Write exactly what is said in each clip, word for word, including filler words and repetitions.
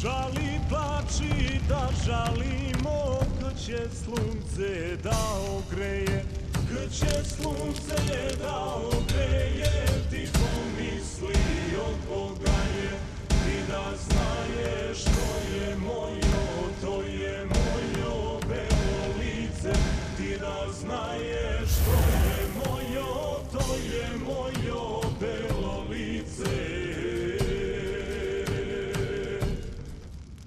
Žali plači da žalimo, kad će slunce da ogreje, kad će slunce da ogreje, ti pomisli od Boga je, ti da znaješ to je mojo, to je mojo belo lice, ti da znaješ to je mojo, to je mojo belo lice.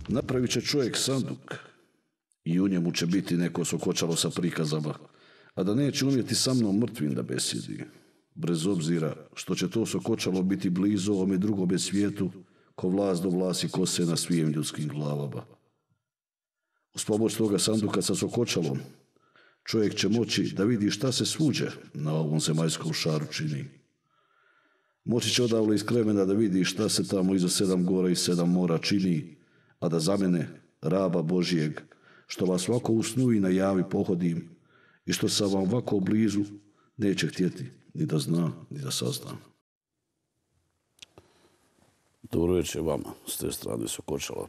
Napravit će čovjek sanduk i u njemu će biti neko sokočalo sa prikazama, a da neće umjeti sa mnom mrtvim da besjedi, bez obzira što će to sokočalo biti blizu ovome drugome svijetu, ko vlast do vlasi kose na svim ljudskim glavama. Uz pomoć toga sanduka sa sokočalom, čovjek će moći da vidi šta se svuđe na ovom zemaljskom šaru čini. Moći će odavle iz kremena da vidi šta se tamo iza sedam gora i sedam mora čini, a da za mene, raba Božijeg, što vas ovako u snu i na javi pohodim i što sam vam ovako blizu, neće htjeti ni da zna, ni da sazna. Dobro večer vama, s te strane Sokočala.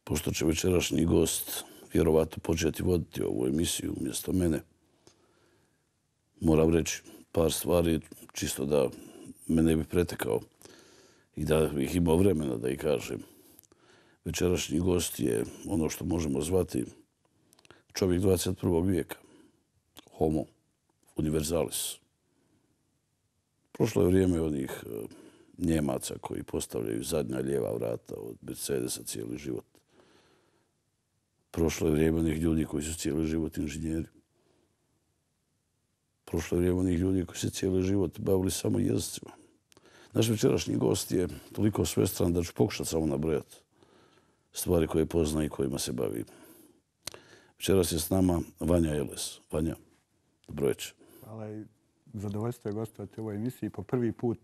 Pošto će večerašnji gost vjerovatno početi voditi ovu emisiju umjesto mene, moram reći par stvari čisto da me ne bi pretekao i da ih imao vremena da ih kažem. Večerašnji gost je ono što možemo zvati čovjek dvadeset prvog vijeka. Homo universalis. Prošlo je vrijeme onih Njemaca koji postavljaju zadnja lijeva vrata od Mercedesa cijeli život. Prošlo je vrijeme onih ljudi koji su cijeli život inženjeri. Prošlo je vrijeme onih ljudi koji se cijeli život bavili samo jezicima. Naš večerašnji gost je toliko svestran da ću pokušati samo nabrojati stvari koje pozna i kojima se bavi. Večeras je s nama Vanja Eles. Vanja, dobro večer. Hvala i zadovoljstvo je gostovati u ovoj emisiji. Po prvi put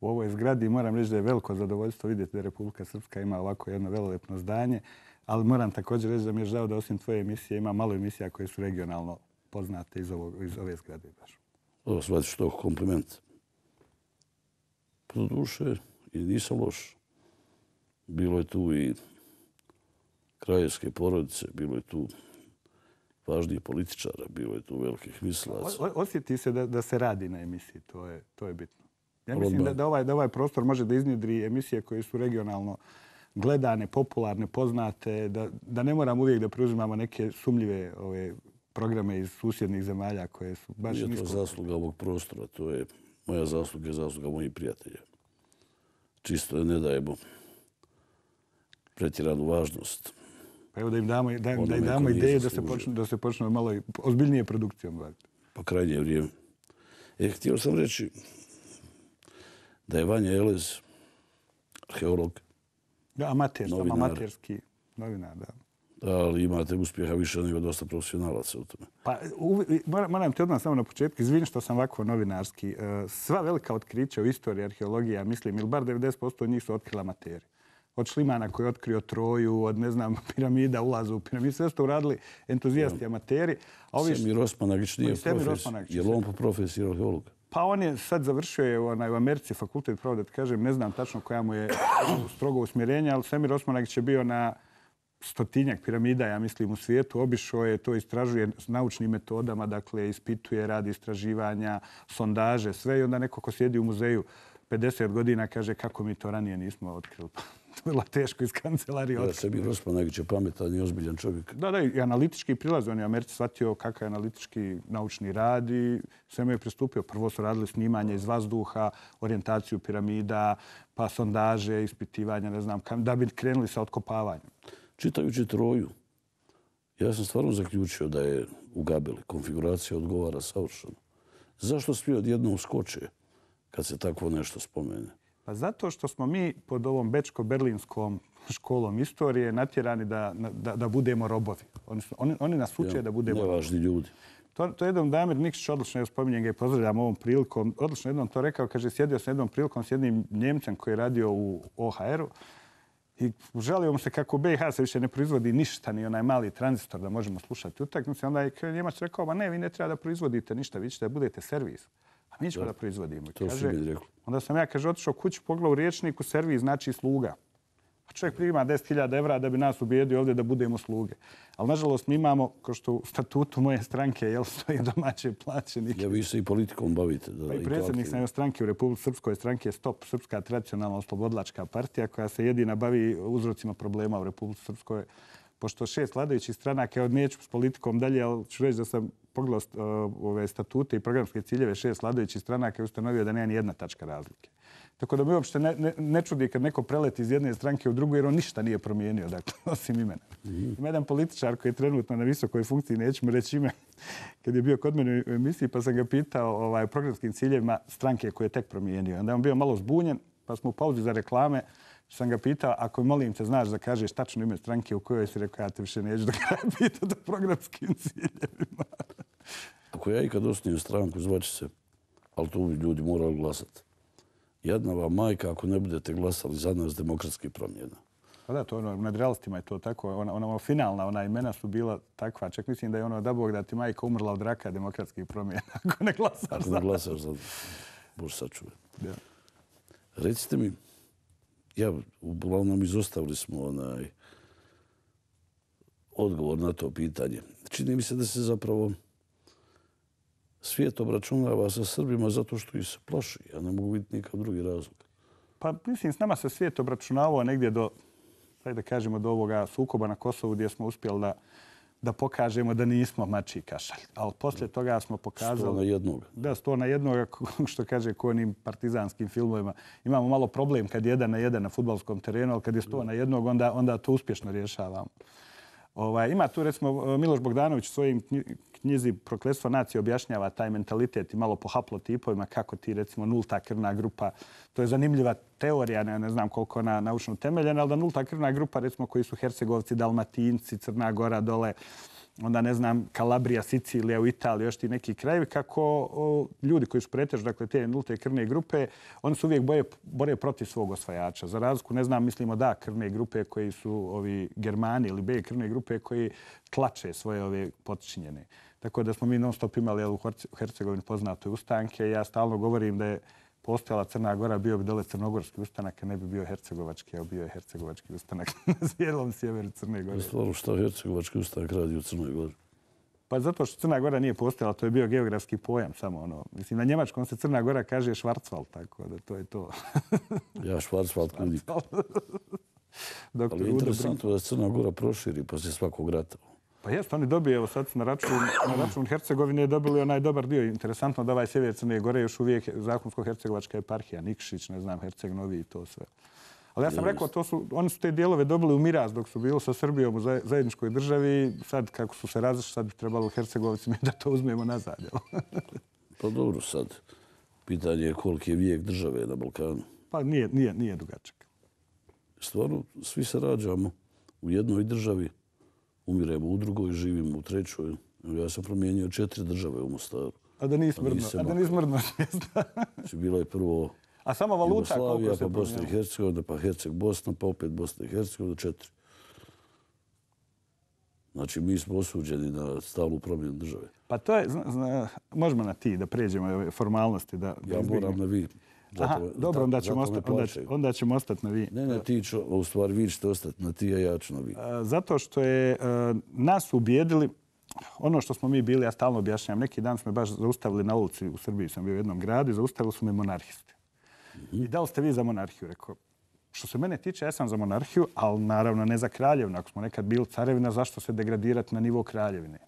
u ovoj zgradi moram reći da je veliko zadovoljstvo vidjeti da Republika Srpska ima ovako jedno velelepno zdanje, ali moram također reći da mi je žao da osim tvoje emisije ima malo emisija koje su regionalno poznate iz, ovog, iz ove zgrade. Baš. Ovo shvatiš to kompliment. Pro duše i nisam loš. Bilo je tu i kraljevske porodice, bilo je tu važnijih političara, bilo je tu velikih mislilaca. Osjeti se da, da se radi na emisiji, to je, to je bitno. Ja mislim da, da, ovaj, da ovaj prostor može da iznjedri emisije koje su regionalno gledane, popularne, poznate, da, da ne moramo uvijek da preuzimamo neke sumljive ove, programe iz susjednih zemalja koje su baš nisko. Nije to zasluga ovog prostora, to je moja zasluga i zasluga mojih prijatelja. Čisto je ne dajemo pretjeranu važnost. Pa evo da im damo, da, da im damo ideje da se, počne, da se počne malo ozbiljnije produkcijom baviti. Pa krajnje vrijeme. E, htio sam reći da je Vanja Eles arheolog, da, amater, novinar, amaterski novinar, da. Ali imate uspjeha više nego dosta profesionalaca u tome. Pa, moram, moram ti odmah samo na početku, izvini što sam ovako novinarski. Sva velika otkrića u istoriji arheologije, mislim, ili bar devedeset posto od njih su otkrila amateri. Od Šlimana koji je otkrio Troju, od, ne znam, piramida, ulaza u piramidu, sve su to uradili entuzijasti, amateri. A ovi... Semir Osmanagić nije profesor. Je li on po profesiji arheolog? Pa on je sad završio je onaj, u Americi fakultet, pravo da ti kažem, ne znam tačno koja mu je strogo usmjerenje, ali Semir Osmanagić je bio na stotinjak piramida, ja mislim, u svijetu. Obišao je, to istražuje s naučnim metodama, dakle, ispituje, radi istraživanja, sondaže, sve. I onda neko ko sjedi u muzeju pedeset godina kaže kako mi to ranije nismo otkrili. To je bilo teško iz kancelarije otkriti. Semir Osmanagić je pametan i ozbiljan čovjek. Da, da, i analitički prilaz. On je u Americi shvatio kakav je analitički naučni rad i sve mu je pristupio. Prvo su radili snimanje iz vazduha, orijentaciju piramida, pa sondaže, ispitivanja, ne znam, da bi krenuli sa otkopavanjem. Čitajući Troju, ja sam stvarno zaključio da je u Gabeli konfiguracija odgovara savršeno. Zašto svi odjednom skoče kad se takvo nešto spomene? Pa zato što smo mi pod ovom bečko-berlinskom školom istorije natjerani da, da, da budemo robovi. Oni, su, oni, oni nas uče ja, da budemo robovi. Nevažni ljudi. To, to je jednom Damir Nikšić, odlično je spominjen ga i pozdravljam ovom prilikom. Odlično jednom to rekao, kaže, sjedio sam jednom prilikom s jednim Njemcem koji je radio u O H R-u i žalio mu se kako u B i H se više ne proizvodi ništa, ni onaj mali tranzistor da možemo slušati utakmice. Onda je Njemac rekao, ma ne, vi ne treba da proizvodite ništa, vi ćete da budete servis. A mi ćemo da, da proizvodimo. To kaže, mi rekao. Onda sam ja, kaže, otišao kuću, pogledao u riječniku, servis znači sluga. Čovjek prima deset hiljada evra da bi nas ubijedio ovdje da budemo sluge. Ali nažalost mi imamo, kao što u statutu moje stranke, jel, stoji domaće plaćenike. Ja, vi se i politikom bavite. Da, pa i predsjednik sam stranke u Republici Srpskoj, stranke Stop, Srpska tradicionalna oslobodilačka partija, koja se jedina bavi uzrocima problema u Republici Srpskoj. Pošto šest vladajućih stranaka, ja neću s politikom dalje, ali ću reći da sam pogledao uh, ove statute i programske ciljeve šest vladajućih stranaka i ustanovio da nema ni jedna tačka razlike. Tako da mi uopšte ne, ne, ne čudi kad neko preleti iz jedne stranke u drugu, jer on ništa nije promijenio, dakle, osim imena. Mm-hmm. Ima jedan političar koji je trenutno na visokoj funkciji, nećemo reći ime, kad je bio kod mene u emisiji, pa sam ga pitao ovaj, o programskim ciljevima stranke koje je tek promijenio. Onda je on bio malo zbunjen, pa smo u pauzi za reklame, sam ga pitao, ako molim te, znaš da kažeš tačno ime stranke u kojoj si rekao, ja te više neću da kraja pitati o programskim ciljevima. Ako ja ikad osnijem stranku, zvaće se, ali tu bi ljudi morali glasati. Jedna vam majka ako ne budete glasali za nas demokratskih promjena. Pa da, to ono, nad realistima je to tako. Ona, ona finalna, ona imena su bila takva. Čak mislim da je ono da Bog da ti majka umrla od raka demokratskih promjena. Ako ne glasaš ako za ne glasaš za Bože sačuvaj. Ja. Recite mi, ja, uglavnom izostavili smo onaj odgovor na to pitanje. Čini mi se da se zapravo svijet obračunava sa Srbima zato što ih se plaši. Ja ne mogu vidjeti nikakav drugi razlog. Pa mislim, s nama se svijet obračunavao negdje do, da kažemo, do ovoga sukoba na Kosovu gdje smo uspjeli da, da pokažemo da nismo mačji kašalj. Ali poslije toga smo pokazali... Sto na jednog. Da, sto na jednog, što kaže ko onim partizanskim filmovima. Imamo malo problem kad je jedan na jedan na fudbalskom terenu, ali kad je sto na jednog, onda, onda to uspješno rješavamo. Ovaj, ima tu, recimo, Miloš Bogdanović u svojim knjizi Prokletstvo nacije objašnjava taj mentalitet i malo po haplotipovima kako ti, recimo, nulta krvna grupa. To je zanimljiva teorija, ne, ne znam koliko ona naučno utemeljena, ali da nulta krvna grupa, recimo, koji su Hercegovci, Dalmatinci, Crna Gora dole, onda, ne znam, Kalabrija, Sicilija u Italiji, još ti neki krajevi, kako o, ljudi koji su pretežu, dakle, te nulte krvne grupe, oni su uvijek boje, bore protiv svog osvajača. Za razliku, ne znam, mislimo da krvne grupe koji su ovi Germani ili B krvne grupe koji tlače svoje ove potčinjene. Tako da smo mi non stop imali u Hercegovini poznate ustanke. Ja stalno govorim da je postojala Crna Gora, bio bi dole crnogorski ustanak, a ne bi bio hercegovački, a bio je hercegovački ustanak na cijelom sjeveru Crne Gore. Stvarno, šta hercegovački ustanak radi u Crnoj Gori? Pa zato što Crna Gora nije postojala, to je bio geografski pojam samo ono. Mislim, na njemačkom se Crna Gora kaže Schwarzwald, tako da to je to. Ja Schwarzwald kudim. Ali je interesantno da Crna Gora proširi poslije svakog rata. Pa jest, oni dobije, evo sad na račun, na račun Hercegovine dobili onaj dobar dio. Interesantno da ovaj sjever Crne Gore još uvijek zakonsko-hercegovačka eparhija, Nikšić, ne znam, Herceg Novi i to sve. Ali ja sam rekao, to su, oni su te dijelove dobili u miraz dok su bili sa Srbijom u zajedničkoj državi. Sad, kako su se razišli, sad bi trebalo Hercegovcima da to uzmemo nazad. Pa dobro, sad. Pitanje je koliki je vijek države na Balkanu. Pa nije, nije, nije dugačak. Stvarno, svi se rađamo u jednoj državi, umiremo u drugoj, živimo u trećoj. Ja sam promijenio četiri države u Mostaru. A da nisi mrdno, a da nisi mrdno svijesta. Znači, bilo je prvo a samo valuta Jugoslavija, pa Bosna i Hercegovina, pa Herceg Bosna, pa opet Bosna i Hercegovina, četiri. Znači, mi smo osuđeni na stalnu promjenu države. Pa to je, zna, zna, možemo na ti da pređemo ove formalnosti. Da, ja da moram na vi. Zato, Aha, dobro, onda ćemo, osta, onda, onda ćemo ostati na vi. Ne, ne, ti ću, u stvari vi ćete ostati na ti, a ja ću na vi. Zato što je uh, nas ubijedili, ono što smo mi bili, ja stalno objašnjam, neki dan smo me baš zaustavili na ulici, u Srbiji sam bio u jednom gradu i zaustavili su me monarhisti. Mm-hmm. I da li ste vi za monarhiju? Rekao, što se mene tiče, ja sam za monarhiju, ali naravno ne za kraljevinu. Ako smo nekad bili carevina, zašto se degradirati na nivo kraljevine?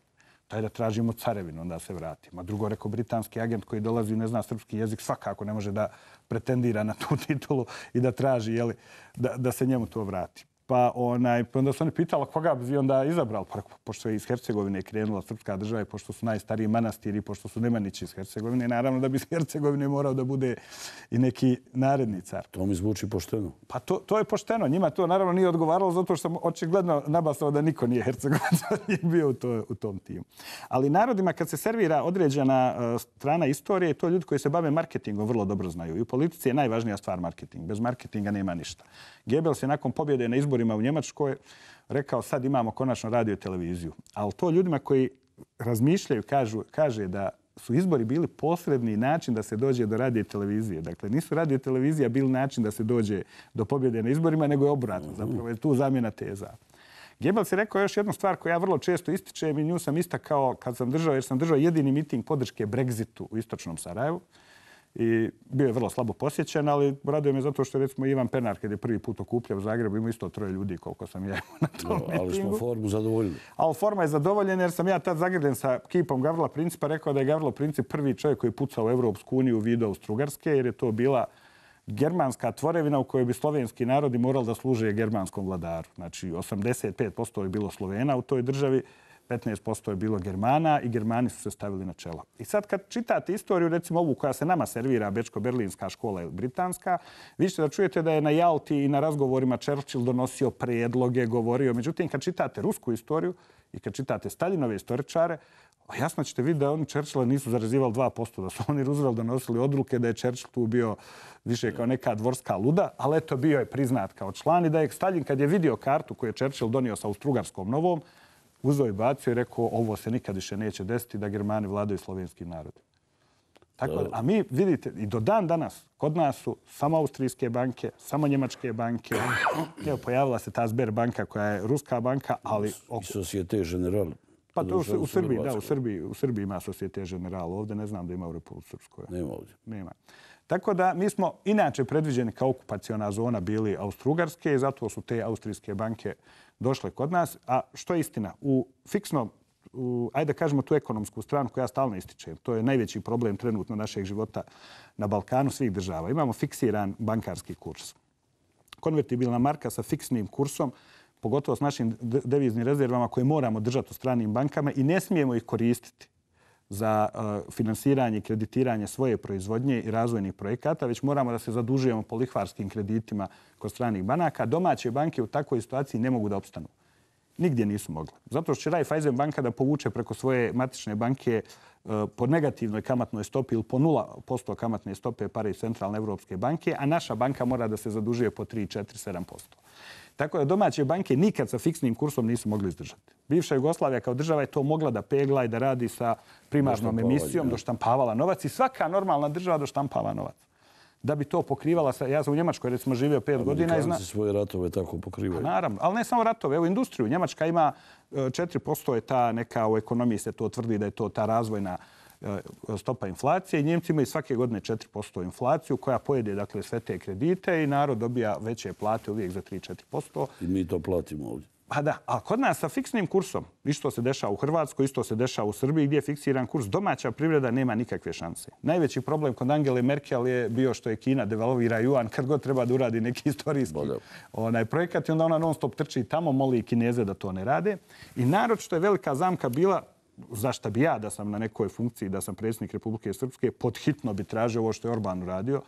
Daj da tražimo carevinu, onda se vratimo. A drugo, rekao, britanski agent koji dolazi i ne zna srpski jezik, svakako ne može da pretendira na tu titulu i da traži, jeli, da, da se njemu to vrati. Pa onaj, onda su oni pitali koga bi onda izabrali, pa, pošto je iz Hercegovine krenula srpska država i pošto su najstariji manastiri, pošto su Nemanići iz Hercegovine, naravno da bi iz Hercegovine morao da bude i neki naredni car. To mi zvuči pošteno. Pa to, to je pošteno. Njima to naravno nije odgovaralo zato što sam očigledno nabasao da niko nije Hercegovac, nije bio u, to, u tom timu. Ali narodima kad se servira određena uh, strana istorije, to ljudi koji se bave marketingom vrlo dobro znaju. I u politici je najvažnija stvar marketing. Bez marketinga nema ništa. Goebbels je nakon pobjede na izborima u Njemačkoj rekao sad imamo konačno radio i televiziju. Ali to ljudima koji razmišljaju kažu, kaže da su izbori bili posredni način da se dođe do radio i televizije. Dakle, nisu radio i televizija bili način da se dođe do pobjede na izborima, nego je obratno. Zapravo je tu zamjena teza. Goebbels je rekao još jednu stvar koju ja vrlo često ističem i nju sam istakao kad sam držao, jer sam držao jedini miting podrške Brexitu u istočnom Sarajevu. I bio je vrlo slabo posjećen, ali raduje me zato što recimo Ivan Pernar, kad je prvi put okupljao u Zagrebu, ima isto troje ljudi koliko sam ja na tom no, mitingu. Ali smo formu zadovoljili. Ali forma je zadovoljena jer sam ja tad zagrljen sa kipom Gavrila Principa rekao da je Gavrilo Princip prvi čovjek koji je pucao u Evropsku uniju u vidu Austrougarske, jer je to bila germanska tvorevina u kojoj bi slovenski narodi morali da služe germanskom vladaru. Znači, osamdeset pet posto je bilo Slovena u toj državi, petnaest posto je bilo Germana i Germani su se stavili na čelo. I sad kad čitate istoriju, recimo ovu koja se nama servira, Bečko-Berlinska škola ili Britanska, vi ćete da čujete da je na Jalti i na razgovorima Churchill donosio prijedloge, govorio. Međutim, kad čitate rusku istoriju i kad čitate Staljinove istoričare, jasno ćete vidjeti da oni Churchilla nisu zarazivali dva posto, da su oni Roosevelt donosili odluke, da je Churchill tu bio više kao neka dvorska luda, ali eto bio je priznat kao član i da je Stalin kad je vidio kartu koju je Churchill donio sa Austrougarskom novom, uzeo i bacio i rekao ovo se nikad više neće desiti da Germani vladaju slovenskim narodom. Tako da, a mi vidite i do dan danas kod nas su samo austrijske banke, samo njemačke banke. Evo, pojavila se ta Sberbanka koja je ruska banka, ali... I Societe Generale. Pa to u, u Srbiji, da, u Srbiji, u Srbiji ima Societe Generale. Ovdje ne znam da ima u Republici Srpskoj. Nema ovdje. Nema. Tako da mi smo inače predviđeni kao okupaciona zona bili Austrougarske i zato su te austrijske banke došle kod nas. A što je istina? U fiksnom, u, ajde da kažemo tu ekonomsku stranu koju ja stalno ističem, to je najveći problem trenutno našeg života na Balkanu svih država. Imamo fiksiran bankarski kurs. Konvertibilna marka sa fiksnim kursom, pogotovo s našim deviznim rezervama koje moramo držati u stranim bankama i ne smijemo ih koristiti za uh, finansiranje i kreditiranje svoje proizvodnje i razvojnih projekata, već moramo da se zadužujemo po lihvarskim kreditima kod stranih banaka. Domaće banke u takvoj situaciji ne mogu da opstanu. Nigdje nisu mogle. Zato što će Raiffeisen banka da povuče preko svoje matične banke uh, po negativnoj kamatnoj stopi ili po nula posto kamatne stope pare iz Centralne Evropske banke, a naša banka mora da se zadužuje po tri, četiri, sedam posto. Tako da domaće banke nikad sa fiksnim kursom nisu mogli izdržati. Bivša Jugoslavija kao država je to mogla da pegla i da radi sa primarnom emisijom, doštampavala novac i svaka normalna država doštampava novac. Da bi to pokrivala, sa, ja sam u Njemačkoj recimo živio pet godina. Amerikanci zna... svoje ratove tako pokrivaju. Naravno, ali ne samo ratove, evo industriju. Njemačka ima četiri posto je ta neka, u ekonomiji se to tvrdi da je to ta razvojna stopa inflacije i Njemci imaju svake godine četiri posto inflaciju koja pojede dakle, sve te kredite i narod dobija veće plate uvijek za tri do četiri posto. I mi to platimo ovdje. Pa da, a kod nas sa fiksnim kursom, isto se dešava u Hrvatskoj, isto se dešava u Srbiji gdje je fiksiran kurs, domaća privreda nema nikakve šanse. Najveći problem kod Angele Merkel je bio što je Kina devalvira juan kad god treba da uradi neki istorijski onaj projekat i onda ona non stop trči tamo, moli Kineze da to ne rade. I narod što je velika zamka bila, zašto bi ja da sam na nekoj funkciji, da sam predsjednik Republike Srpske, podhitno bi tražio ovo što je Orban uradio,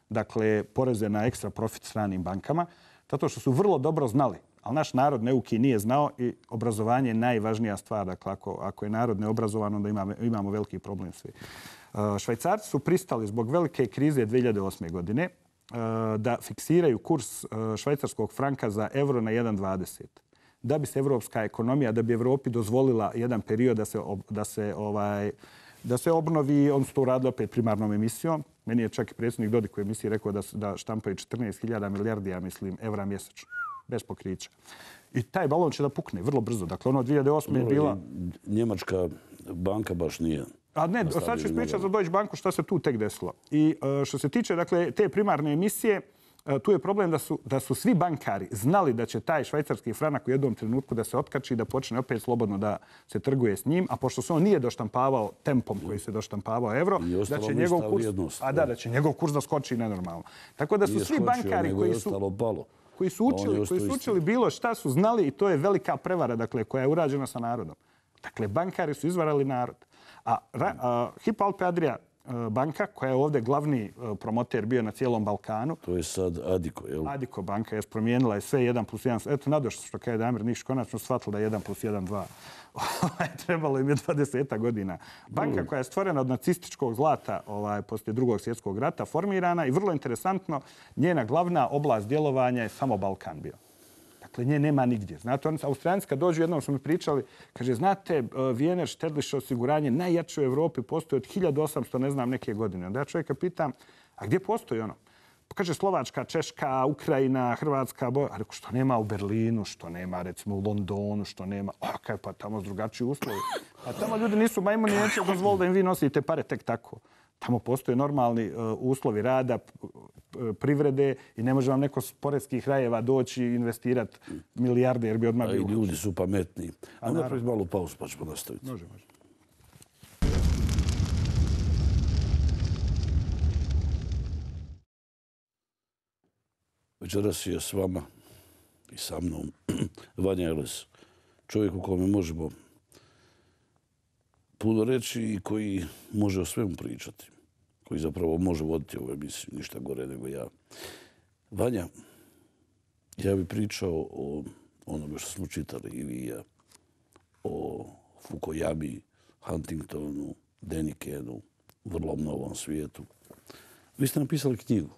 dakle poreze na ekstra profit stranim bankama, zato što su vrlo dobro znali. Ali naš narod neuki nije znao i obrazovanje je najvažnija stvar. Dakle, ako, ako je narod neobrazovan, onda imamo, imamo veliki problem svi. Švajcarci su pristali zbog velike krize dvije hiljade osme. godine da fiksiraju kurs švajcarskog franka za euro na jedan zarez dvadeset. Da bi se evropska ekonomija, da bi Evropi dozvolila jedan period da se, da se, ovaj, da se obnovi, on su to uradili opet primarnom emisijom. Meni je čak i predsjednik Dodik u emisiji rekao da, da štampaju četrnaest hiljada milijardi, ja mislim, evra mjesečno. Bez pokrića. I taj balon će da pukne vrlo brzo. Dakle, ono dvije hiljade osme. je bila... Njemačka banka baš nije. A ne, sad ću ispričati za Deutsche Banku šta se tu tek desilo. I što se tiče dakle, te primarne emisije, tu je problem da su, da su svi bankari znali da će taj švajcarski franak u jednom trenutku da se otkači i da počne opet slobodno da se trguje s njim, a pošto se on nije doštampavao tempom koji se doštampavao evro, da će njegov kurs, a da, da će njegov kurs da skoči nenormalno. Tako da su nije svi skočio, bankari koji su... koji su učili, koji su učili bilo šta su znali i to je velika prevara dakle, koja je urađena sa narodom. Dakle, bankari su izvarali narod. A, a Hypo Alpe Adria banka, koja je ovdje glavni promoter bio na cijelom Balkanu. To je sad Adiko, je li? Adiko banka je promijenila je sve jedan plus jedan. Eto, nadošlo što kada je Damir Nikšić konačno shvatila da je jedan plus jedan dva. Trebalo im je dvadeset godina. Banka koja je stvorena od nacističkog zlata ovaj, poslije drugog svjetskog rata, formirana i vrlo interesantno, njena glavna oblast djelovanja je samo Balkan bio. Dakle, nje nema nigdje. Znate, oni Austrijanci kad dođu, jednom su mi pričali, kaže, znate, Wiener Štedliše osiguranje najjače u Evropi postoji od hiljadu osamsto, ne znam, neke godine. Onda ja čovjeka pitam, a gdje postoji ono? Pa kaže, Slovačka, Češka, Ukrajina, Hrvatska, Bo... A rekao, što nema u Berlinu, što nema, recimo, u Londonu, što nema... A kaj, pa tamo su drugačiji uslovi. A tamo ljudi nisu majmuni, neće dozvoliti da im vi nosite pare tek tako. Tamo postoje normalni uh, uslovi rada, privrede i ne može vam neko s poredskih rajeva doći i investirati milijarde jer bi odmah bio. A i ljudi su pametniji. A, A napraviti malu pauzu pa ćemo nastaviti. Može, može. Večeras je s vama i sa mnom Vanja Eles, čovjek u kome možemo puno reći i koji može o svemu pričati, koji zapravo može voditi ovu emisiju, ništa gore nego ja. Vanja, ja bih pričao o onome što smo čitali i vi i ja, o Fukuyami, Huntingtonu, Denikenu, vrlo novom svijetu. Vi ste napisali knjigu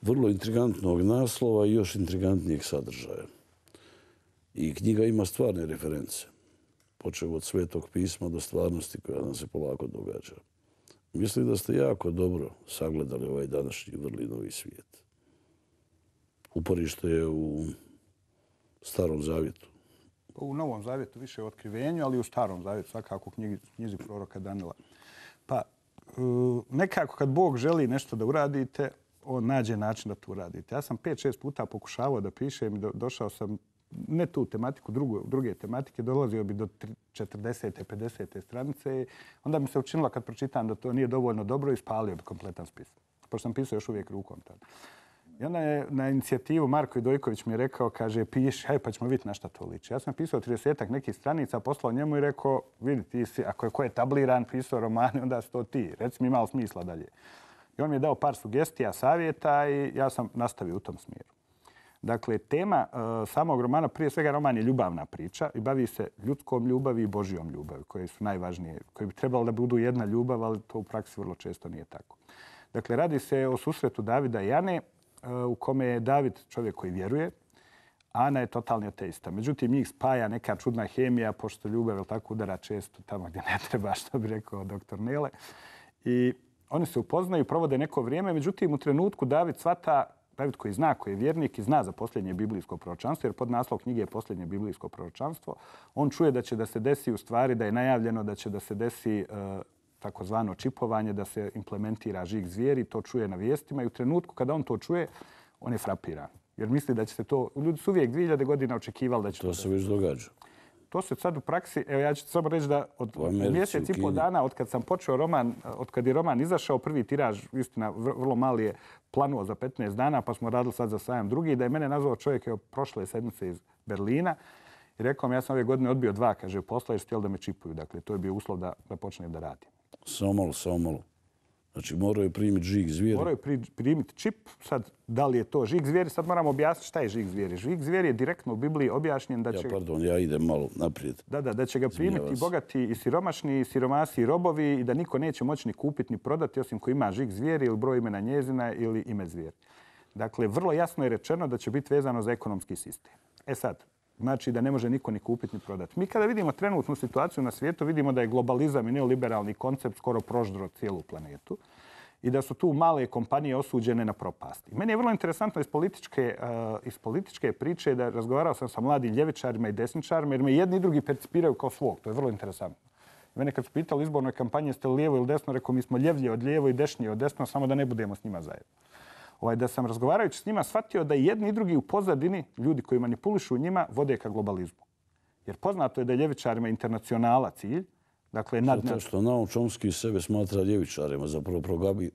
vrlo intrigantnog naslova i još intrigantnijeg sadržaja. I knjiga ima stvarne reference, počev od Svetog pisma do stvarnosti koja nam se polako događa. Mislim da ste jako dobro sagledali ovaj današnji vrli novi svijet. Uporište je u Starom zavjetu. U Novom zavjetu više u otkrivenju, ali i u Starom zavjetu, svakako u knjizi, knjizi proroka Danila. Pa nekako kad Bog želi nešto da uradite, on nađe način da to uradite. Ja sam pet šest puta pokušavao da pišem i do, došao sam ne tu tematiku, drugu, druge tematike, dolazio bi do četrdesete pedesete stranice. Onda mi se učinilo kad pročitam da to nije dovoljno dobro i spalio bi kompletan spis. Pošto sam pisao još uvijek rukom tada. I onda je na inicijativu Marko Idojković mi je rekao, kaže, piši, haj pa ćemo vidjeti na šta to liči. Ja sam pisao tridesetak nekih stranica, poslao njemu i rekao, vidi ti si, ako je ko je tabliran, pisao romane, onda si to ti. Reci mi imalo smisla dalje. I on mi je dao par sugestija, savjeta i ja sam nastavio u tom smjeru. Dakle, tema uh, samog romana, prije svega roman je ljubavna priča i bavi se ljudskom ljubavi i Božjom ljubavi, koje su najvažnije, koje bi trebalo da budu jedna ljubav, ali to u praksi vrlo često nije tako. Dakle, radi se o susretu Davida i Ane, uh, u kome je David čovjek koji vjeruje, a Ana je totalni ateista. Međutim, njih spaja neka čudna hemija, pošto ljubav je tako udara često tamo gdje ne treba, što bi rekao doktor Nele. I oni se upoznaju, provode neko vrijeme, međutim, u trenutku David shvata, David koji zna, koji je vjernik i zna za posljednje biblijsko proročanstvo, jer pod naslov knjige je posljednje biblijsko proročanstvo, on čuje da će da se desi u stvari, da je najavljeno da će da se desi uh, takozvano čipovanje, da se implementira žig zvijeri, to čuje na vijestima i u trenutku kada on to čuje, on je frapiran. Jer misli da će se to, ljudi su uvijek dvije hiljade godina očekivali da će to... To se već događa. To se sad u praksi, evo ja ću samo reći da od mjesec i pol dana, od kad sam počeo roman, od kad je roman izašao, prvi tiraž, istina, vrlo mali je planuo za petnaest dana, pa smo radili sad za sajam drugi, da je mene nazvao čovjek evo, prošle sedmice iz Berlina i rekao mi, ja sam ove godine odbio dva, kaže, posla jer su htjeli da me čipuju. Dakle, to je bio uslov da, da počnem da radim. Samo malo, samo malo. Znači, moraju je primiti žig zvijeri. Moraju pri, primiti čip. Sad, da li je to žig zvijeri? Sad moramo objasniti šta je žig zvijeri. Žig zvijeri je direktno u Bibliji objašnjen da će... Ja, pardon, ja idem malo naprijed. Da, da, da će ga primiti i bogati i siromašni, i siromasi i robovi i da niko neće moći ni kupiti ni prodati osim ko ima žig zvijeri ili broj imena njezina ili ime zvijeri. Dakle, vrlo jasno je rečeno da će biti vezano za ekonomski sistem. E sad, znači da ne može niko ni kupiti ni prodati. Mi kada vidimo trenutnu situaciju na svijetu, vidimo da je globalizam i neoliberalni koncept skoro proždro cijelu planetu i da su tu male kompanije osuđene na propast. I meni je vrlo interesantno iz političke, uh, iz političke priče da razgovarao sam sa mladim ljevičarima i desničarima jer me jedni i drugi percipiraju kao svog. To je vrlo interesantno. Mene kad su pitali u izbornoj kampanji jeste li lijevo ili desno, rekao mi smo ljevlje od lijevo i dešnije od desno, samo da ne budemo s njima zajedno. Ovaj, da sam razgovarajući s njima shvatio da jedni i drugi u pozadini, ljudi koji manipulišu njima, vode ka globalizmu. Jer poznato je da je ljevičarima internacionala cilj. Dakle, nad... Zato što Noam Chomsky sebe smatra ljevičarima, zapravo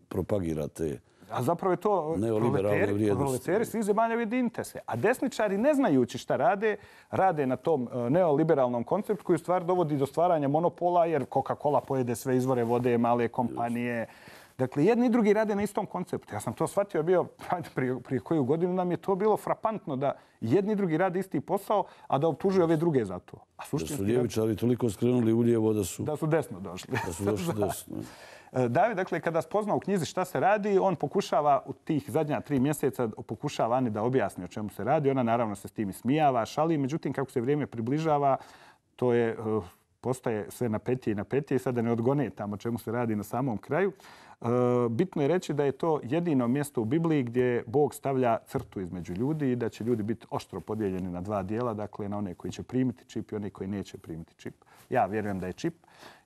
propagira te A zapravo je to proleteri, proleteri svih zemalja ujedinite se. A desničari, ne znajući šta rade, rade na tom neoliberalnom konceptu koji u stvari dovodi do stvaranja monopola, jer Coca-Cola pojede sve izvore vode, male kompanije. Dakle, jedni i drugi rade na istom konceptu. Ja sam to shvatio bio prije, prije koju godinu, nam je to bilo frapantno da jedni i drugi rade isti posao, a da optužuju ove druge za to. A da su ljevičari toliko skrenuli u lijevo da su... Da su desno došli. Da su došli desno. David, dakle, kada spozna u knjizi šta se radi, on pokušava u tih zadnja tri mjeseca pokušava Ani da objasni o čemu se radi. Ona naravno se s tim smijava, šali. Međutim, kako se vrijeme približava, to je, postaje sve napetije i napetije. Sada ne odgone tamo o čemu se radi na samom kraju. Bitno je reći da je to jedino mjesto u Bibliji gdje Bog stavlja crtu između ljudi i da će ljudi biti oštro podijeljeni na dva dijela, dakle na one koji će primiti čip i one koji neće primiti čip. Ja vjerujem da je čip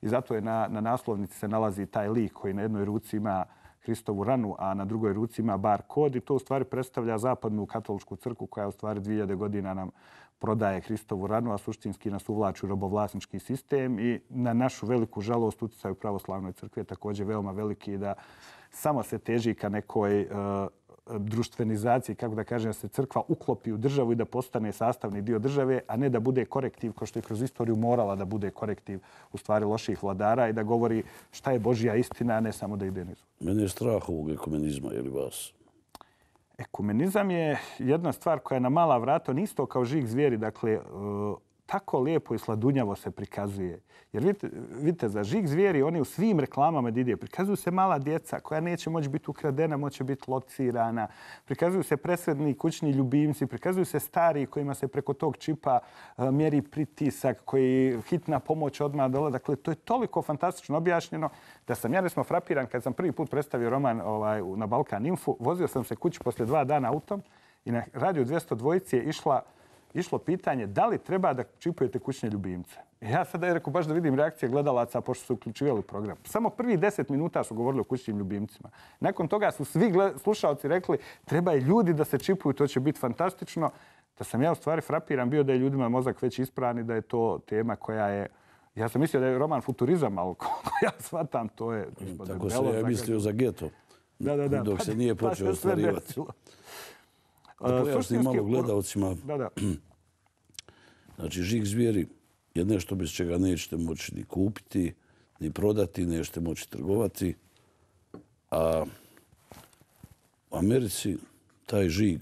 i zato je na, na naslovnici se nalazi taj lik koji na jednoj ruci ima Hristovu ranu, a na drugoj ruci ima bar kod i to u stvari predstavlja zapadnu katoličku crkvu koja u stvari dvije hiljade godina nam prodaje Hristovu ranu, a suštinski nas uvlači u robovlasnički sistem i na našu veliku žalost utjecaj u pravoslavnoj crkvi je također veoma veliki da samo se teži ka nekoj uh, društvenizaciji, kako da kažem, da se crkva uklopi u državu i da postane sastavni dio države, a ne da bude korektiv, kao što je kroz istoriju morala da bude korektiv u stvari loših vladara i da govori šta je Božja istina, a ne samo da ide nizu. Mene je strah ovog ekumenizma, je li vas? Ekumenizam je jedna stvar koja je na mala vrata, on isto kao žig zvijeri, dakle, tako lijepo i sladunjavo se prikazuje. Jer vidite, vidite za žig zvijeri, oni u svim reklamama ide, prikazuju se mala djeca koja neće moći biti ukradena, moće biti locirana. Prikazuju se presredni kućni ljubimci, prikazuju se stari kojima se preko tog čipa mjeri pritisak, koji hitna pomoć odmah dole. Dakle, to je toliko fantastično objašnjeno da sam ja resmo frapiran kad sam prvi put predstavio roman ovaj, na Balkan Info. Vozio sam se kući poslije dva dana autom i na Radio dvjesto dva je išla išlo pitanje da li treba da čipujete kućne ljubimce. Ja sada je rekao baš da vidim reakcije gledalaca pošto su uključivali program. Samo prvi deset minuta su govorili o kućnim ljubimcima. Nakon toga su svi slušalci rekli treba je ljudi da se čipuju, to će biti fantastično. Da sam ja u stvari frapiran bio da je ljudima mozak već ispran i da je to tema koja je... Ja sam mislio da je roman futurizam, ali kako ja shvatam, to je... Tako se ja mislio za geto. Da, da, da. Dok se nije počeo ostvarivati. Da pojasnim malo gledalcima. Da, da. Znači, žig zvijeri je nešto bez čega nećete moći ni kupiti, ni prodati, nećete moći trgovati. A u Americi taj žig,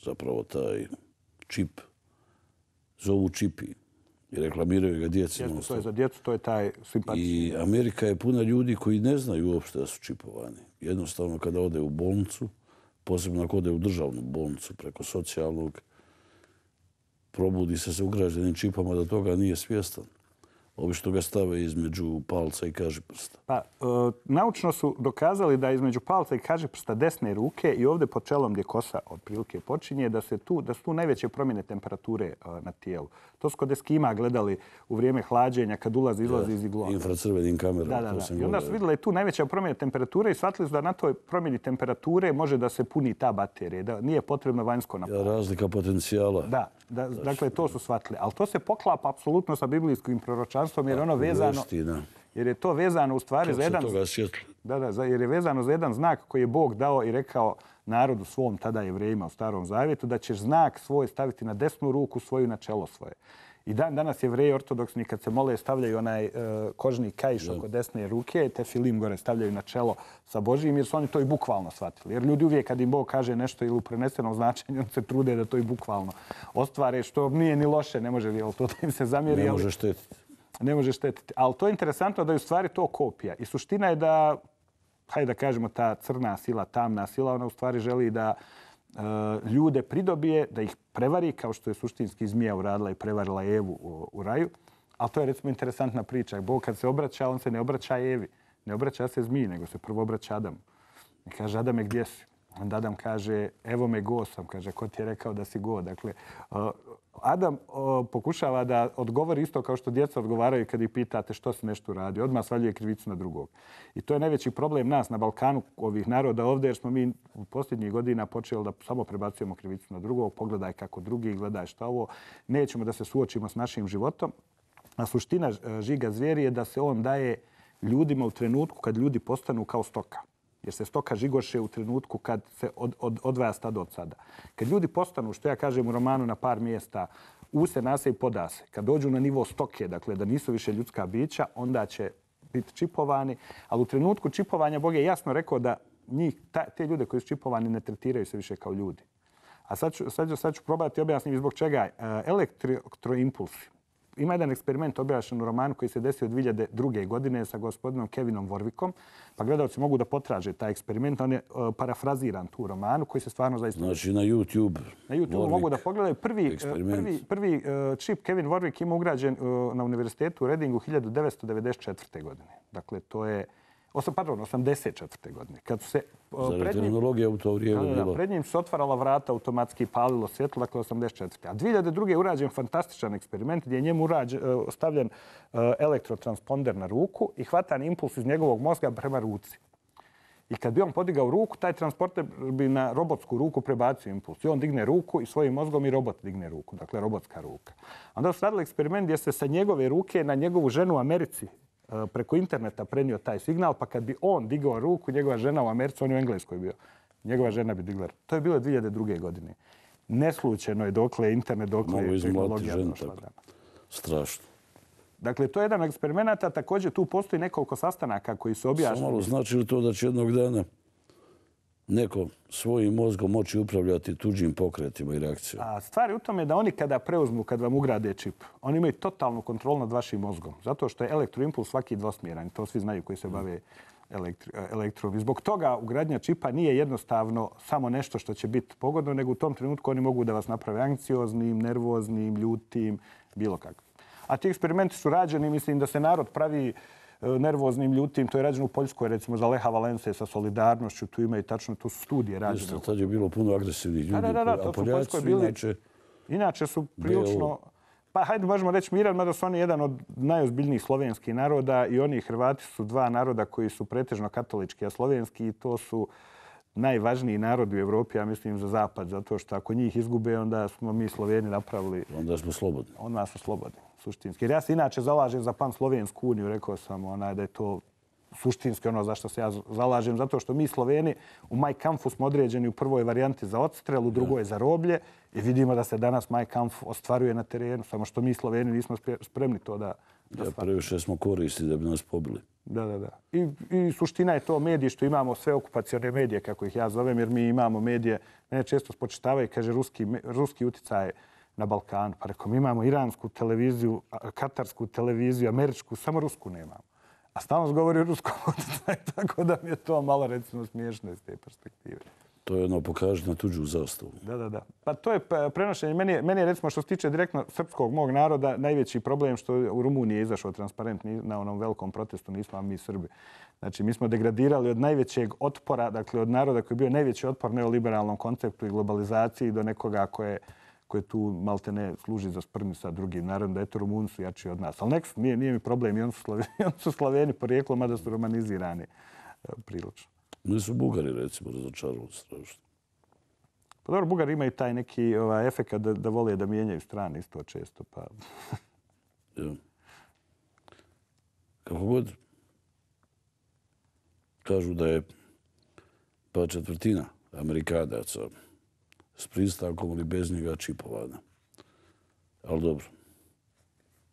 zapravo taj čip, zovu čipi i reklamiraju ga djeci. Jeste, to je za djecu, to je taj simpatični. I Amerika je puna ljudi koji ne znaju uopšte da su čipovani. Jednostavno, kada ode u bolnicu, posebno ako ode u državnu bolnicu preko socijalnog, probudi se sa ugrađenim čipama da toga nije svjestan. Obično ga stave između palca i kažiprsta. Pa, e, naučno su dokazali da između palca i kažiprsta desne ruke i ovdje pod čelom gdje kosa otprilike počinje, da, se tu, da su tu najveće promjene temperature e, na tijelu. To su kod Eskima gledali u vrijeme hlađenja kad ulazi izlazi iz iglova. Infracrvenim kamerama. Da, da, da. I onda su vidjeli tu najveća promjena temperature i shvatili su da na toj promjeni temperature može da se puni ta baterija. Da nije potrebno vanjsko napolje. Ja, razlika potencijala. Da, da, dakle to su shvatili. Ali to se poklapa apsolutno sa biblijskim proročanstvom jer ono vezano... Jer je to vezano u stvari za jedan... Da, da, jer je vezano za jedan znak koji je Bog dao i rekao narodu svom, tada Jevrejima u Starom Zavjetu, da ćeš znak svoj staviti na desnu ruku, svoju na čelo svoje. I dan danas Jevreji ortodoksni kad se mole stavljaju onaj uh, kožni kaiš oko desne ruke, te filim gore stavljaju na čelo sa Božijim jer su oni to i bukvalno shvatili. Jer ljudi uvijek kad im Bog kaže nešto ili u prenesenom značenju, on se trude da to i bukvalno ostvare, što nije ni loše, ne može jel, to da im se zamjeri. Ne može štetiti. Ne može štetiti. Ali to je interesantno da je u stvari to kopija. I suština je da, hajde da kažemo, ta crna sila, tamna sila, ona u stvari želi da uh, ljude pridobije, da ih prevari, kao što je suštinski zmija uradila i prevarila Evu u, u raju. Ali to je recimo interesantna priča. Bog kad se obraća, on se ne obraća Evi. Ne obraća se zmiji, nego se prvo obraća Adamu. I kaže, Adame, gdje si? Onda Adam kaže, evo me go sam. Kaže, ko ti je rekao da si go? Dakle, uh, Adam uh, pokušava da odgovori isto kao što djeca odgovaraju kad ih pitate što si nešto radi. Odmah svaljuje krivicu na drugog. I to je najveći problem nas na Balkanu, ovih naroda ovdje, jer smo mi u posljednjih godina počeli da samo prebacujemo krivicu na drugog. Pogledaj kako drugi, gledaj šta ovo. Nećemo da se suočimo s našim životom. A suština žiga zvijeri je da se on daje ljudima u trenutku kad ljudi postanu kao stoka. Jer se stoka žigoše u trenutku kad se od, od, odvaja stado od sada. Kad ljudi postanu, što ja kažem u romanu na par mjesta, use, nase i podase, kad dođu na nivo stoke, dakle da nisu više ljudska bića, onda će biti čipovani. Ali u trenutku čipovanja Bog je jasno rekao da njih, ta, te ljude koji su čipovani ne tretiraju se više kao ljudi. A sad ću, sad ću, sad ću probati objasniti zbog čega. Elektroimpulsi ima jedan eksperiment objašnjen u romanu koji se desio dvije hiljade druge. godine sa gospodinom Kevinom Warwickom. Pa gledalci mogu da potraže taj eksperiment. On je uh, parafraziran tu romanu koji se stvarno zaista... Znači na YouTube. Na YouTube Warwick, mogu da pogledaju. Prvi, prvi, prvi uh, čip Kevin Warwick ima ugrađen uh, na univerzitetu u Readingu hiljadu devetsto devedeset četvrte. godine. Dakle, to je... Osam, pardon, osamdeset četvrte. godine. Kad su se... Uh, Zar je tehnologija u to vrijeme da, bilo? Pred njim se otvarala vrata automatski i palilo svjetlo, dakle osamdeset četvrte. A dvije hiljade druge. je urađen fantastičan eksperiment gdje je njemu urađen, uh, stavljen uh, elektrotransponder na ruku i hvatan impuls iz njegovog mozga prema ruci. I kad bi on podigao ruku, taj transporter bi na robotsku ruku prebacio impuls. I on digne ruku i svojim mozgom i robot digne ruku. Dakle, robotska ruka. Onda su radili eksperiment gdje se sa njegove ruke na njegovu ženu u Americi preko interneta prenio taj signal, pa kad bi on digao ruku, njegova žena u Americi, on je u Engleskoj bio, njegova žena bi digla. To je bilo dvije hiljade druge. godine. Neslučajno je dokle internet, dokle je tehnologija došla. Strašno. Dakle, to je jedan eksperiment, a također tu postoji nekoliko sastanaka koji su objašnjeni. Samo malo znači li to da će jednog dana neko svojim mozgom moći upravljati tuđim pokretima i reakcijama? A stvar je u tome da oni kada preuzmu, kad vam ugrade čip, oni imaju totalnu kontrolu nad vašim mozgom. Zato što je elektroimpuls svaki dvosmjeran. To svi znaju koji se bave elektri, elektrom. I zbog toga ugradnja čipa nije jednostavno samo nešto što će biti pogodno, nego u tom trenutku oni mogu da vas naprave anksioznim, nervoznim, ljutim, bilo kako. A ti eksperimenti su rađeni, mislim da se narod pravi nervoznim, ljutim. To je rađeno u Poljskoj, recimo za Leha Valence sa solidarnošću. Tu ima i tačno, tu su studije rađene. Isto, tad je bilo puno agresivnih ljudi. Da, da, da, to su u Poljskoj bili. Inače, inače su prilično... Pa hajde, možemo reći miran, mada su oni jedan od najozbiljnijih slovenskih naroda i oni Hrvati su dva naroda koji su pretežno katolički, a slovenski i to su najvažniji narodi u Evropi, ja mislim, za zapad, zato što ako njih izgube, onda smo mi Sloveni napravili... Onda smo slobodni. Onda smo slobodni, suštinski. Jer ja se inače zalažem za pan-slovensku uniju, rekao sam onaj, da je to suštinski ono za što se ja zalažem, zato što mi Sloveni u Mein Kampfu smo određeni u prvoj varijanti za odstrel, u drugoj za roblje i vidimo da se danas Mein Kampf ostvaruje na terenu, samo što mi Sloveni nismo spremni to da... Ja, previše smo koristi da bi nas pobili. Da, da, da. I, I suština je to mediji što imamo sve okupacione medije, kako ih ja zovem, jer mi imamo medije, mene često spočitavaju, kaže, ruski, ruski uticaj na Balkanu. Pa rekom, imamo iransku televiziju, katarsku televiziju, američku, samo rusku nemamo. A stalno govori o ruskom uticaju, tako da mi je to malo, recimo, smiješno iz te perspektive. To je ono, pokaži na tuđu zastavu. Da, da, da. Pa to je prenošenje. Meni je, meni je recimo, što se tiče direktno srpskog mog naroda, najveći problem što u Rumuniji je izašao transparent na onom velikom protestu, nismo mi Srbi. Znači, mi smo degradirali od najvećeg otpora, dakle, od naroda koji je bio najveći otpor neoliberalnom konceptu i globalizaciji do nekoga koje, koje tu malte ne služi za sprnju sa drugim narodom, da eto Rumuni su jači od nas. Ali nek su, nije, nije mi problem, i oni su Sloveni, oni su Sloveni porijeklom, mada su romanizirani prilično. Nisu Bugari, recimo, razočarali strašno. Pa dobro, Bugari imaju taj neki ovaj, efekt da, da vole da mijenjaju strane isto često. Pa... ja. Kako god kažu da je pa četvrtina Amerikanaca s pristankom ili bez njega čipovana. Ali dobro.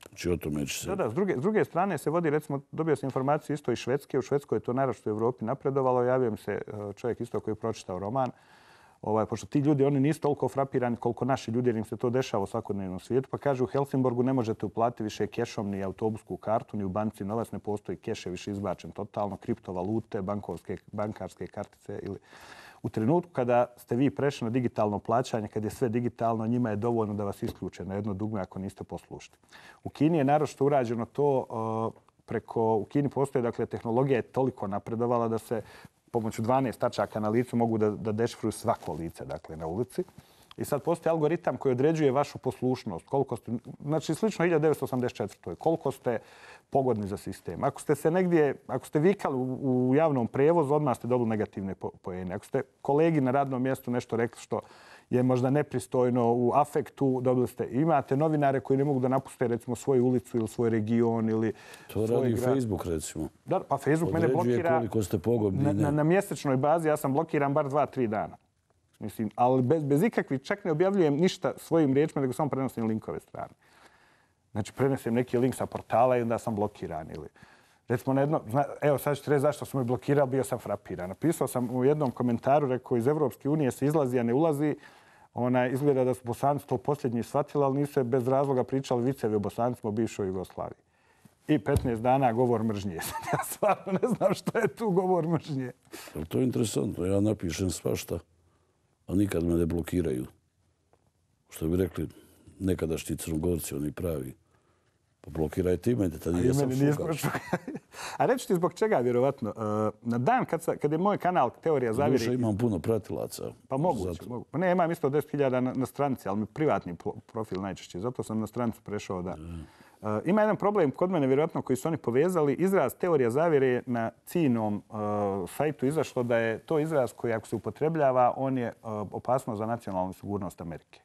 Znači, o tome će se... Da, da, s druge, s druge strane se vodi, recimo, dobio sam informaciju isto iz Švedske. U Švedskoj je to naravno u Evropi napredovalo. Javio mi se čovjek isto koji je pročitao roman. Ovaj, pošto ti ljudi, oni nisu toliko frapirani koliko naši ljudi, jer im se to dešava u svakodnevnom svijetu. Pa kaže, u Helsingborgu ne možete uplatiti više kešom ni autobusku kartu, ni u banci novac, ne postoji keš, je više izbačen totalno, kriptovalute, bankovske, bankarske kartice ili... U trenutku kada ste vi prešli na digitalno plaćanje, kad je sve digitalno, njima je dovoljno da vas isključe na jedno dugme ako niste poslušni. U Kini je naročito urađeno to preko... U Kini postoje, dakle, tehnologija je toliko napredovala da se pomoću dvanaest tačaka na licu mogu da, da dešifruju svako lice, dakle, na ulici. I sad postoji algoritam koji određuje vašu poslušnost. Koliko ste, znači, slično hiljadu devetsto osamdeset četvrtoj Koliko ste pogodni za sistem. Ako ste se negdje, ako ste vikali u, u javnom prevozu, odmah ste dobili negativne po, poene. Ako ste kolegi na radnom mjestu nešto rekli što je možda nepristojno u afektu, dobili ste. Imate novinare koji ne mogu da napuste, recimo, svoju ulicu ili svoj region ili to svoj radi grad. Facebook, recimo. Da, pa Facebook mene blokira. Određuje koliko ste pogodni. Na, na, na mjesečnoj bazi ja sam blokiran bar dva, tri dana. Mislim, ali bez, bez ikakvih, čak ne objavljujem ništa svojim riječima, nego samo prenosim linkove strane. Znači, prenesem neki link sa portala i onda sam blokiran. Ili, recimo, na jedno, evo, sad ću reći zašto sam me blokirao, bio sam frapiran. Napisao sam u jednom komentaru, rekao, iz Evropske unije se izlazi, a ne ulazi. Ona, izgleda da su Bosanci to posljednji shvatili, ali nisu bez razloga pričali vicevi o Bosancima u bivšoj Jugoslaviji. I petnaest dana govor mržnje. Ja stvarno ne znam što je tu govor mržnje. To je interesantno. Ja napišem svašta, a nikad me ne blokiraju. Što bi rekli nekadašnji Crnogorci, oni pravi. Pa blokiraj ti mene, tad nije sam šukao. A reći ti zbog čega, vjerovatno. Na dan kad, sa, kad je moj kanal Teorija zavjere... Duše imam puno pratilaca. Pa moguće, mogu. Pa ne, imam isto deset hiljada na, na stranici, ali mi privatni profil najčešće. Zato sam na stranicu prešao da... Mm. Uh, ima jedan problem kod mene, vjerojatno, koji su oni povezali. Izraz Teorija zavjere je na ciljnom uh, sajtu izašlo da je to izraz koji, ako se upotrebljava, on je uh, opasno za nacionalnu sigurnost Amerike.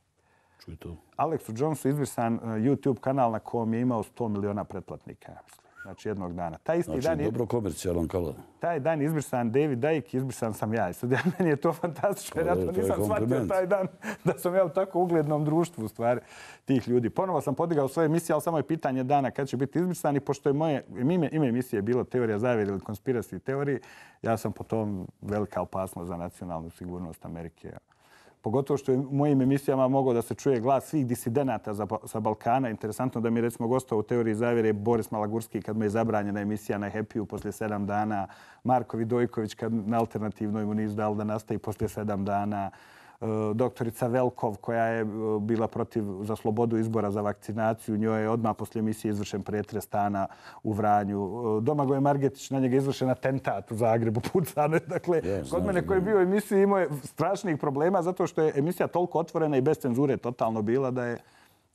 Čuj to. Alexu Jonesu izbrisan uh, YouTube kanal na kojem je imao sto miliona pretplatnika, ja mislim. Znači jednog dana. Taj isti znači, dan je, dobro komercijalan kanal. Taj dan je izbrisan David Icke, izbrisan sam ja. I sad ja, meni je to fantastično, jer ja to nisam shvatio taj dan da sam ja u tako uglednom društvu u stvari tih ljudi. Ponovo sam podigao svoje emisije, ali samo je pitanje dana kad će biti izbrisan i pošto je moje ime, ime emisije bilo Teorija zavjere ili konspiracy teoriji, ja sam po tom velika opasnost za nacionalnu sigurnost Amerike. Pogotovo što je u mojim emisijama mogao da se čuje glas svih disidenata sa Balkana. Interesantno da mi recimo gostao u Teoriji zavjere Boris Malagurski kad mu je zabranjena emisija na Happy-u poslije sedam dana. Marko Vidojković kad na alternativnoj mu nisu dali da nastavi poslije sedam dana. Doktorica Velkov koja je bila protiv za slobodu izbora za vakcinaciju. Njoj je odmah poslije emisije izvršen pretres stana u Vranju. Domagoj Margetić, na njega izvršen atentat u Zagrebu, pucane. Dakle, yes, kod mene koji je bio u emisiji imao je strašnih problema zato što je emisija toliko otvorena i bez cenzure totalno bila da je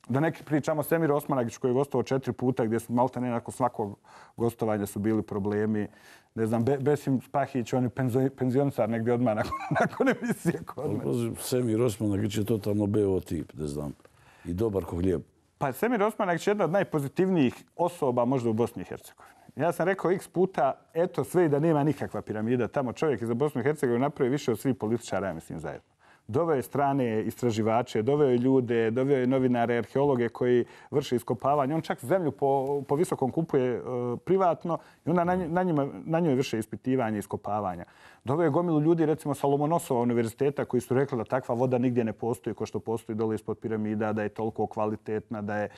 da neki pričamo Semir Osmanagić koji je gostovao četiri puta gdje su maltene nakon svakog gostovanja su bili problemi. Ne znam, Be Besim Spahić, on je penzionisar negdje odmah nakon, nakon emisije kod mene. Semir Osmanagić je totalno beo tip, ne znam, i dobar ko hljeb. Pa Semir Osmanagić je jedna od najpozitivnijih osoba možda u Bosni i Hercegovini. Ja sam rekao x puta, eto sve i da nema nikakva piramida. Tamo čovjek iz Bosne i Hercegovine napravi više od svih političara, ja mislim, zajedno. Doveo je strane istraživače, doveo je ljude, doveo je novinare, arheologe koji vrše iskopavanje. On čak zemlju po, po visokom kupuje uh, privatno i onda na, na, njima, na njoj vrše ispitivanje i iskopavanja. Doveo je gomilu ljudi, recimo sa Lomonosova univerziteta, koji su rekli da takva voda nigdje ne postoji kao što postoji dole ispod piramida, da je toliko kvalitetna, da je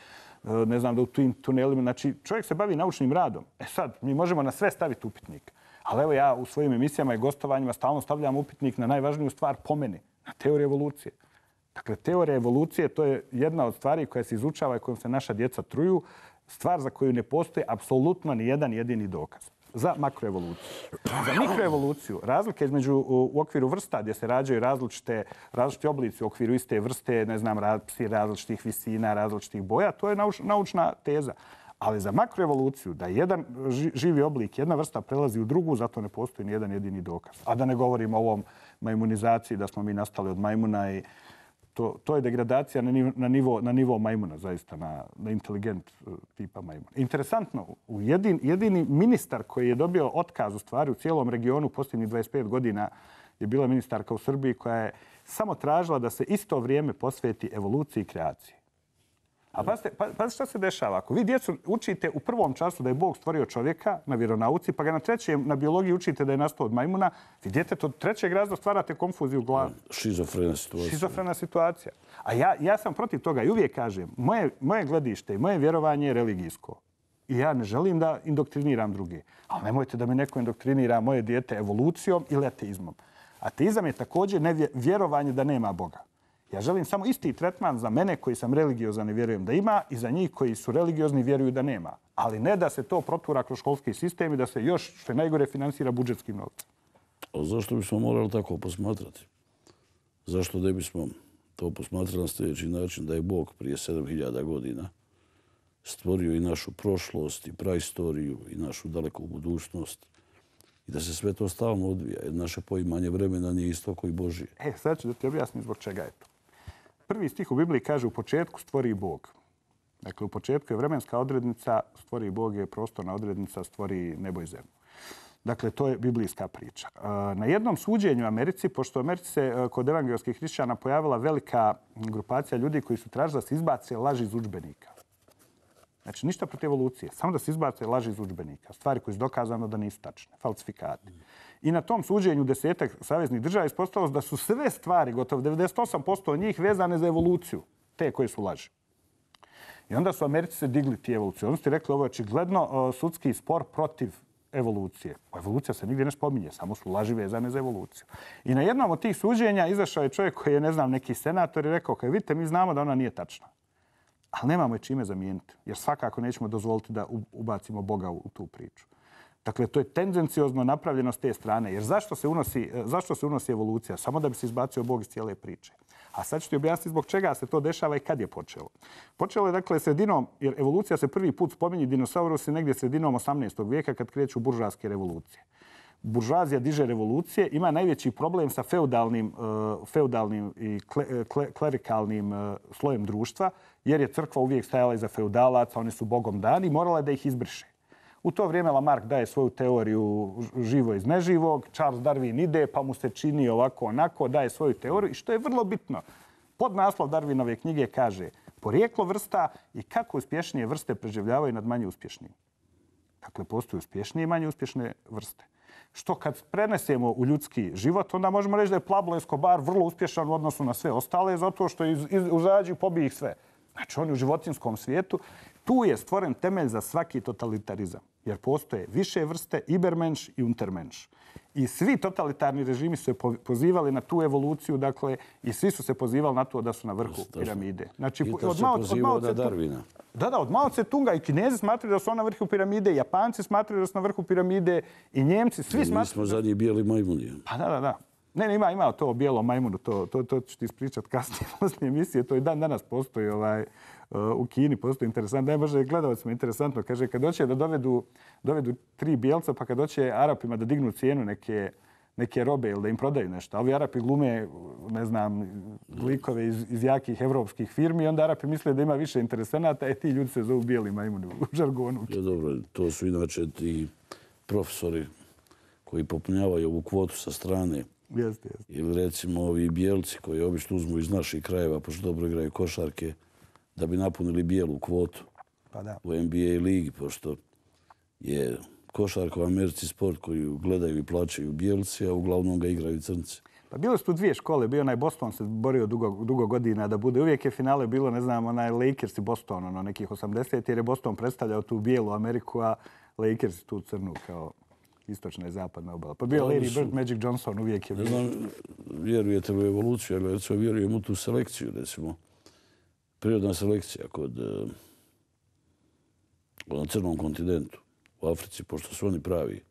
uh, ne znam, da u tim tunelima. Znači, čovjek se bavi naučnim radom. E sad, mi možemo na sve staviti upitnik. Ali evo ja u svojim emisijama i gostovanjima stalno stavljam upitnik na najvažniju stvar po meni. Na teoriju evolucije. Dakle, teorija evolucije to je jedna od stvari koja se izučava i kojom se naša djeca truju. Stvar za koju ne postoji apsolutno ni jedan jedini dokaz. Za makroevoluciju. Za mikroevoluciju razlike između u okviru vrsta gdje se rađaju različite, različite oblici u okviru iste vrste, ne znam, psi različitih visina, različitih boja, to je nauč, naučna teza. Ali za makroevoluciju, da jedan živi oblik, jedna vrsta prelazi u drugu, zato ne postoji ni jedan jedini dokaz. A da ne govorimo o ovom majmunizaciji, da smo mi nastali od majmuna i to, to je degradacija na nivo, na nivo, na nivo majmuna, zaista, na, na inteligent tipa majmuna. Interesantno, u jedin, jedini ministar koji je dobio otkaz u stvari u cijelom regionu posljednjih dvadeset pet godina je bila ministarka u Srbiji koja je samo tražila da se isto vrijeme posveti evoluciji i kreaciji. A pazite, pazite šta se dešava. Ako vi djecu učite u prvom času da je Bog stvorio čovjeka na vjeronauci, pa ga na trećem na biologiji učite da je nastao od majmuna, vi djetetu od trećeg razreda stvarate konfuziju u glavi. Šizofrena situacija. Šizofrena situacija. A ja, ja sam protiv toga i uvijek kažem, moje, moje gledište i moje vjerovanje je religijsko. I ja ne želim da indoktriniram druge. Ali nemojte da me neko indoktrinira moje dijete evolucijom ili ateizmom. Ateizam je također vjerovanje da nema Boga. Ja želim samo isti tretman za mene koji sam religiozan i vjerujem da ima i za njih koji su religiozni i vjeruju da nema. Ali ne da se to protura kroz školski sistem i da se još što je najgore finansira budžetskim novcem. A zašto bismo morali tako posmatrati? Zašto ne bismo to posmatrali na sljedeći način da je Bog prije sedam hiljada godina stvorio i našu prošlost i praistoriju i našu daleku budućnost i da se sve to stalno odvija jer naše poimanje vremena nije isto koji Božije. E, sad ću da ti objasnim zbog čega je to. Prvi stih u Bibliji kaže u početku stvori Bog. Dakle, u početku je vremenska odrednica, stvori Bog je prostorna odrednica, stvori nebo i zemlju. Dakle, to je biblijska priča. Na jednom suđenju u Americi, pošto u Americi se kod evangelskih hrišćana pojavila velika grupacija ljudi koji su tražili da se izbace laži iz udžbenika. Znači, ništa protiv evolucije, samo da se izbace laži iz udžbenika. Stvari koje su dokazano da nisu tačne, falsifikati. I na tom suđenju desetak saveznih država ispostavilo da su sve stvari, gotovo devedeset osam posto njih, vezane za evoluciju, te koje su laži. I onda su Americi se digli ti evoluciju. Oni su ti rekli ovo je očigledno sudski spor protiv evolucije. Evolucija se nigdje ne spominje, samo su laži vezane za evoluciju. I na jednom od tih suđenja izašao je čovjek koji je, ne znam, neki senator i rekao, kaj vidite, mi znamo da ona nije tačna. Ali nemamo je čime zamijeniti, jer svakako nećemo dozvoliti da ubacimo Boga u tu priču. Dakle, to je tendenciozno napravljeno s te strane. Jer zašto se unosi, zašto se unosi evolucija? Samo da bi se izbacio Bog iz cijele priče. A sad ću ti objasniti zbog čega se to dešava i kad je počelo. Počelo je, dakle, sredinom, jer evolucija se prvi put spominje dinosaurusi negdje sredinom osamnaestog vijeka kad kreću buržoaske revolucije. Buržoazija diže revolucije, ima najveći problem sa feudalnim, uh, feudalnim i kle, kle, klerikalnim uh, slojem društva, jer je crkva uvijek stajala iza feudalaca, oni su Bogom dani, morala je da ih izbriše. U to vrijeme Lamarck daje svoju teoriju živo iz neživog, Charles Darwin ide pa mu se čini ovako onako, daje svoju teoriju i što je vrlo bitno. Podnaslov Darwinove knjige kaže porijeklo vrsta i kako uspješnije vrste preživljavaju nad manje uspješnim. Dakle, postoje uspješnije i manje uspješne vrste. Što kad prenesemo u ljudski život, onda možemo reći da je Pablo Escobar vrlo uspješan u odnosu na sve ostale, zato što iz, iz, uzađi i pobije ih sve. Znači, on je u životinskom svijetu. Tu je stvoren temelj za svaki totalitarizam. Jer postoje više vrste, Ibermensch i Untermensch. I svi totalitarni režimi su se pozivali na tu evoluciju, dakle, i svi su se pozivali na to da su na vrhu piramide. Znači, I to od se Mao, pozivao na Darwina. Da, da, od Mao Tse-tunga i Kinezi smatraju da su na vrhu piramide, i Japanci smatraju da su na vrhu piramide, i Njemci, svi smatraju... Mi smo zadnji bijeli majmuni. Pa da, da, da. Ne, ne, ima, ima to bijelo majmunu, to, to, to ću ti ispričati kasnije poslije emisije. To i dan danas postoji ovaj, u Kini, postoji interesantno. Ne, može gledalcima interesantno. Kaže, kad doće da dovedu, dovedu tri bijelca, pa kad doće Arapima da dignu cijenu neke, neke robe ili da im prodaju nešto. A ovi Arapi glume, ne znam, likove iz, iz jakih evropskih firmi, onda Arapi misle da ima više interesenata, e ti ljudi se zovu bijeli majmuni u žargonu. Ja, dobro, to su inače ti profesori koji popunjavaju ovu kvotu sa strane. Jeste, jeste. Ili recimo ovi bijelci koji obično uzmu iz naših krajeva, pošto dobro igraju košarke, da bi napunili bijelu kvotu pa da. U N B A ligi, pošto je košarka u Americi sport koji gledaju i plaćaju bijelci, a uglavnom ga igraju crnci. Pa bilo su tu dvije škole. Bio onaj Boston se borio dugo, dugo godina da bude. Uvijek je finale bilo, ne znam, onaj Lakers i Boston, ono, nekih osamdeset, jer je Boston predstavljao tu bijelu Ameriku, a Lakers tu crnu kao istočna i zapadna obala. Pa bio Larry Bird, Magic Johnson, uvijek je bio. Ne znam, vjerujete u evoluciju, ali recimo vjerujem u tu selekciju, recimo. Prirodna selekcija kod na crnom kontinentu, u Africi, pošto su oni pravi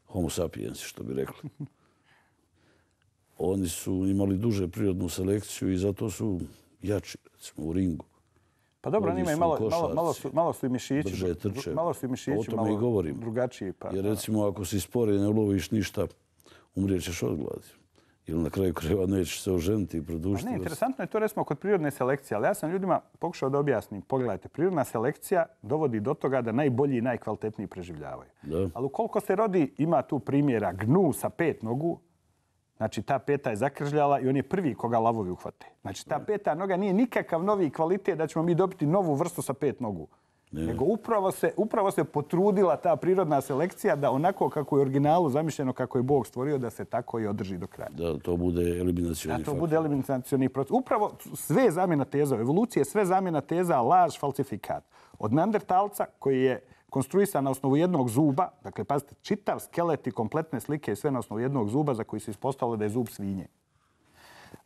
homo sapiensi, što bi rekli. Oni su imali duže prirodnu selekciju i zato su jači, recimo, u ringu. Pa dobro, oni imaju malo, malo, malo, su, malo su i mišići, brže trče. malo su i mišići, o tome i govorim. Drugačiji. Pa, jer recimo ako si spori i ne uloviš ništa, umrijećeš od gladi. Ili na kraju krajeva nećeš se oženiti i produžiti. Ne, interesantno je to recimo kod prirodne selekcije, ali ja sam ljudima pokušao da objasnim. Pogledajte, prirodna selekcija dovodi do toga da najbolji i najkvalitetniji preživljavaju. Da. Ali ukoliko se rodi, ima tu primjera gnu sa pet nogu, znači ta peta je zakržljala i on je prvi koga lavovi uhvate. Znači ta peta noga nije nikakav novi kvalitet da ćemo mi dobiti novu vrstu sa pet nogu. Ne. Nego upravo se, upravo se potrudila ta prirodna selekcija da onako kako je u originalu zamišljeno, kako je Bog stvorio, da se tako i održi do kraja. Da to bude eliminacioni faktor. Da to bude eliminacioni proces. Upravo sve zamjena teza, evolucije, sve zamjena teza, laž, falsifikat. Od Neandertalca koji je konstruisan na osnovu jednog zuba, dakle, pazite, čitav skelet i kompletne slike i sve na osnovu jednog zuba za koji se ispostavilo da je zub svinje.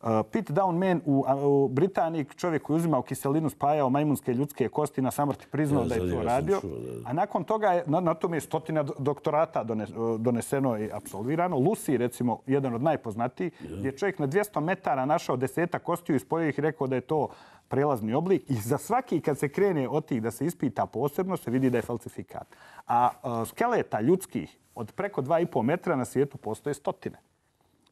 Uh, Pete Downman u, u Britaniji, čovjek koji uzimao kiselinu, spajao majmunske ljudske kosti, na samrti priznao ja, da je to radio. Čuo, da. A nakon toga je, na, na tome je stotina doktorata dones, doneseno i apsolvirano. Lucy, recimo, jedan od najpoznatijih, ja. Gdje je čovjek na dvjesto metara našao deseta kostiju i spojio ih i rekao da je to prelazni oblik. I za svaki, kad se krene od tih da se ispita posebno, se vidi da je falsifikat. A uh, skeleta ljudskih od preko dva i pol metra na svijetu postoje stotine.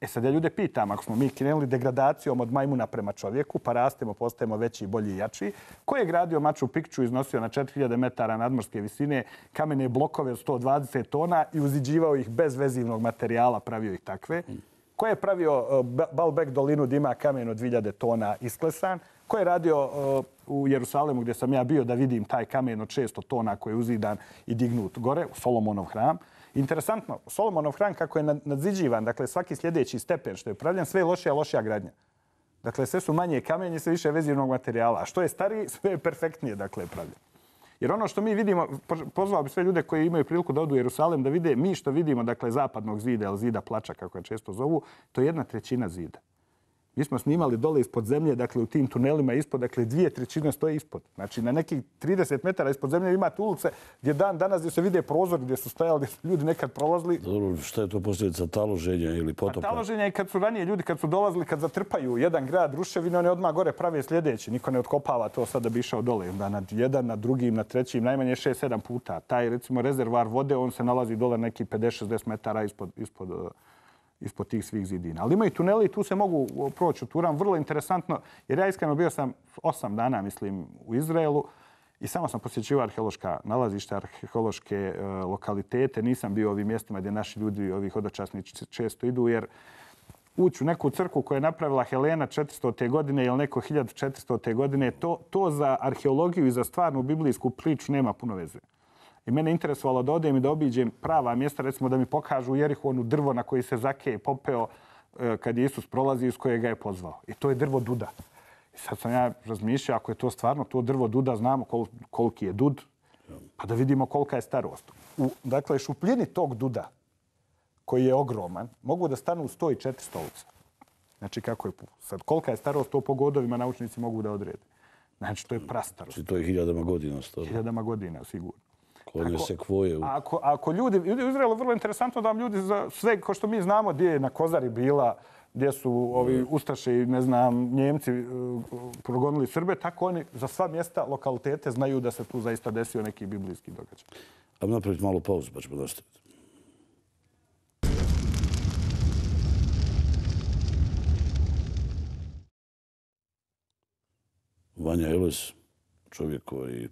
E sad ja ljude pitam, ako smo mi krenuli degradacijom od majmuna prema čovjeku, pa rastemo, postajemo veći, bolji i jači, ko je gradio Machu Picchu, iznosio na četiri hiljade metara nadmorske visine kamene blokove od sto dvadeset tona i uziđivao ih bez vezivnog materijala, pravio ih takve? Ko je pravio uh, Baalbek dolinu gdje ima kamen od dvije hiljade tona isklesan? Ko je radio uh, u Jerusalemu gdje sam ja bio da vidim taj kamen od šesto tona koji je uzidan i dignut gore, u Solomonov hram? Interesantno, Solomonov hram kako je nadziđivan, dakle svaki sljedeći stepen što je pravljen, sve je lošija, lošija gradnja. Dakle, sve su manje kamenje, sve više vezivnog materijala. A što je stariji, sve je perfektnije, dakle, pravljen. Jer ono što mi vidimo, pozvao bi sve ljude koji imaju priliku da odu u Jerusalim da vide, mi što vidimo, dakle, zapadnog zida ili zida plača, kako je često zovu, to je jedna trećina zida. Mi smo snimali dole ispod zemlje, dakle, u tim tunelima ispod, dakle, dvije trećine stoje ispod. Znači, na nekih trideset metara ispod zemlje imate ulice gdje dan danas gdje se vide prozori gdje su stajali, gdje su ljudi nekad prolazili. Dobro, šta je to posljedica taloženja ili potopa? A taloženja je kad su ranije ljudi, kad su dolazili, kad zatrpaju jedan grad ruševine, oni odmah gore prave sljedeći. Niko ne otkopava to sad da bi išao dole. Da na jedan, na drugim, na trećim, najmanje šest sedam puta. Taj, recimo, rezervar vode, on se nalazi dole neki pedeset šezdeset metara ispod, ispod ispod tih svih zidina. Ali ima i tuneli i tu se mogu proći u Turan. Vrlo interesantno, jer ja iskreno bio sam osam dana, mislim, u Izraelu i samo sam posjećivao arheološka nalazišta, arheološke uh, lokalitete. Nisam bio u ovim mjestima gdje naši ljudi, ovi hodočasnici često idu, jer ući u neku crkvu koju je napravila Helena četiristote godine ili neko hiljadu četiristote godine, to, to za arheologiju i za stvarnu biblijsku priču nema puno veze. I mene interesovalo da odem i da obiđem prava mjesta, recimo da mi pokažu u Jerihonu drvo na koji se Zakej popeo kad je Isus prolazi iz kojega je pozvao. I to je drvo duda. I sad sam ja razmišljao, ako je to stvarno to drvo duda, znamo kol, koliki je dud, pa da vidimo kolika je starost. U, dakle, šupljini tog duda, koji je ogroman, mogu da stanu sto i četiri stolica. Znači, kako je sad, kolika je starost, to po godovima naučnici mogu da odrede. Znači, to je prastarost. Znači, to je hiljadama godina staro. Hiljadama godina, sigurno. Konje sekvoje. Ako, ako ljudi, ljudi u Izraelu je vrlo interesantno da vam ljudi za sve, kao što mi znamo, gdje je na Kozari bila, gdje su ovi Ustaše i, ne znam, Njemci uh, progonili Srbe, tako oni za sva mjesta, lokalitete znaju da se tu zaista desio neki biblijski događaj. Ajmo napraviti malo pauzu, pa ćemo nastaviti. Vanja Eles, čovjek koji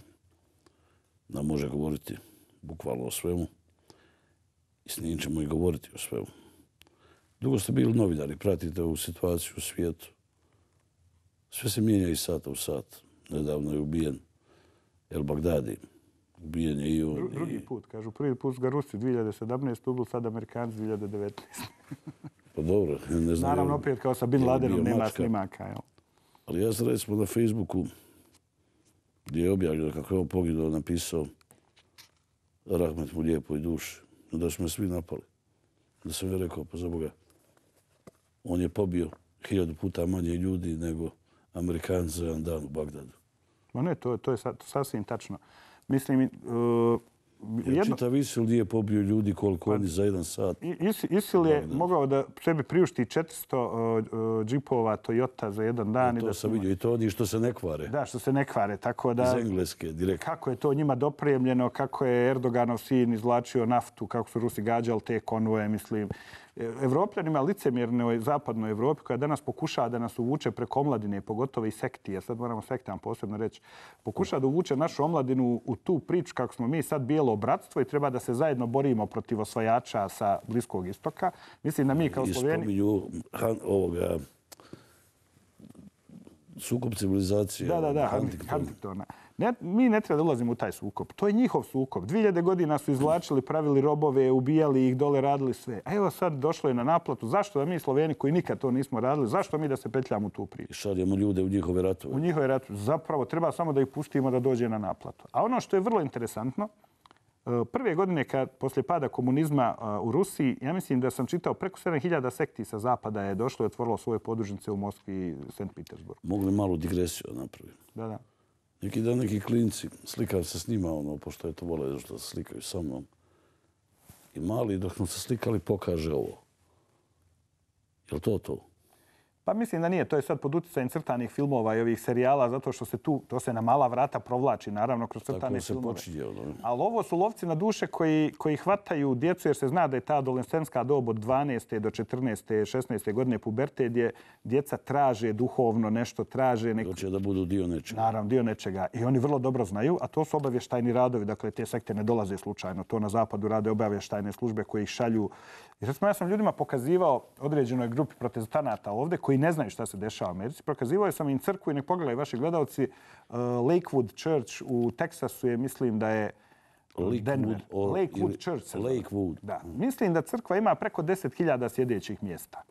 nam može govoriti bukvalno o svemu i s njim ćemo i govoriti o svemu. Dugo ste bili novinari, pratite ovu situaciju u svijetu. Sve se mijenja iz sata u sat. Nedavno je ubijen El Bagdadi. Ubijen je i on. Dru, drugi put, kažu. Prvi put ga Rusi dvije hiljade sedamnaeste. ubili, sad Amerikanci dvije hiljade devetnaeste. Pa dobro, ne znam. Naravno, opet kao sa Bin Ladenom nema snimaka. Jel? Ali ja sam recimo na Facebooku gdje je objavljeno kako je on poginuo, napisao rahmet mu lijepoj duši. Da su me svi napali. Da sam je rekao, pa za Boga, on je pobio hiljadu puta manje ljudi nego Amerikanci za jedan dan u Bagdadu. Ma ne, to, to je sasvim tačno. Mislim, uh, jedno... Čitav Isil nije pobio ljudi koliko pa, oni za jedan sat. Is, Isil je Bagdad. mogao da sebi priušti četiristo uh, džipova Toyota za jedan dan. Ja, to i da sam vidio. I to oni što se ne kvare. Da, što se ne kvare. Tako da, iz Engleske, direktno. Kako je to njima dopremljeno, kako je Erdoganov sin izvlačio naftu, kako su Rusi gađali te konvoje, mislim. Evropljanima licemjernoj zapadnoj Evropi koja danas pokušava da nas uvuče preko omladine, pogotovo i sekti, ja sad moramo sektama posebno reći, pokušava da uvuče našu omladinu u tu priču kako smo mi sad bijelo bratstvo i treba da se zajedno borimo protiv osvajača sa Bliskog istoka. Mislim da mi kao Sloveni... I spominju ovoga sukob civilizacije. Da, da, da, Huntingtona. Ne, mi ne treba da ulazimo u taj sukob. To je njihov sukob. dvije hiljade godina su izvlačili, pravili robove, ubijali ih, dole radili sve. A evo sad došlo je na naplatu. Zašto da mi Sloveni koji nikad to nismo radili, zašto mi da se petljamo u tu priču? Šaljemo ljude u njihove ratove. U njihove ratove. Zapravo treba samo da ih pustimo da dođe na naplatu. A ono što je vrlo interesantno, prve godine kad poslije pada komunizma u Rusiji, ja mislim da sam čitao preko sedam hiljada sekti sa zapada je došlo i otvorilo svoje podružnice u Moskvi i Sankt Petersburgu. Mogli malu digresiju napraviti. Da, da. Neki dan neki klinci, slikam se s njima, ono, pošto je to vole što se slikaju sa mnom. I mali, dok smo se slikali, pokaže ovo. Je li to to? Pa mislim da nije. To je sad pod utjecajem crtanih filmova i ovih serijala, zato što se tu, to se na mala vrata provlači, naravno, kroz crtane filmove. Tako se počinje, ono. Ali ovo su lovci na duše koji, koji hvataju djecu, jer se zna da je ta adolescentska dob od dvanaeste do četrnaeste, šesnaeste godine puberte, gdje djeca traže duhovno nešto, traže neko... Hoće da budu dio nečega. Naravno, dio nečega. I oni vrlo dobro znaju, a to su obavještajni radovi. Dakle, te sekte ne dolaze slučajno. To na zapadu rade obavještajne službe koji ih šalju. I recimo, ja sam ljudima pokazivao određenoj grupi protestanata ovdje koji ne znaju šta se dešava u Americi. Prokazivao sam im crkvu i nek pogledaju vaši gledalci. Uh, Lakewood Church u Teksasu je, mislim da je Denver. o- Lakewood ili- Church. se zove. Lakewood. Da. Mislim da crkva ima preko deset hiljada sjedećih mjesta.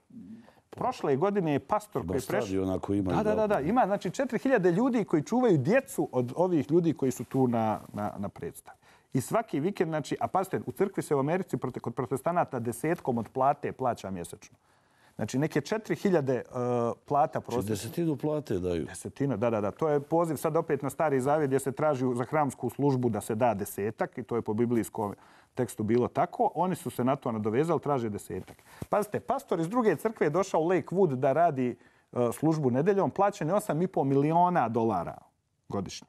Prošle godine je pastor koji je prešao... Stadiona koji imaju Da, da, da, da. Ima znači četiri hiljade ljudi koji čuvaju djecu od ovih ljudi koji su tu na, na, na predstavi. I svaki vikend, znači, a pazite, u crkvi se u Americi prote- kod protestanata desetkom od plate plaća mjesečno. Znači neke četiri hiljade uh, plata Znači, prosječno. desetinu plate daju. Desetina, da, da, da. To je poziv sad opet na Stari Zavjet gdje se traži za hramsku službu da se da desetak i to je po biblijskom tekstu bilo tako. Oni su se na to nadovezali, traže desetak. Pazite, pastor iz druge crkve je došao u Lakewood da radi uh, službu nedeljom, plaćen je osam i pol miliona dolara godišnje.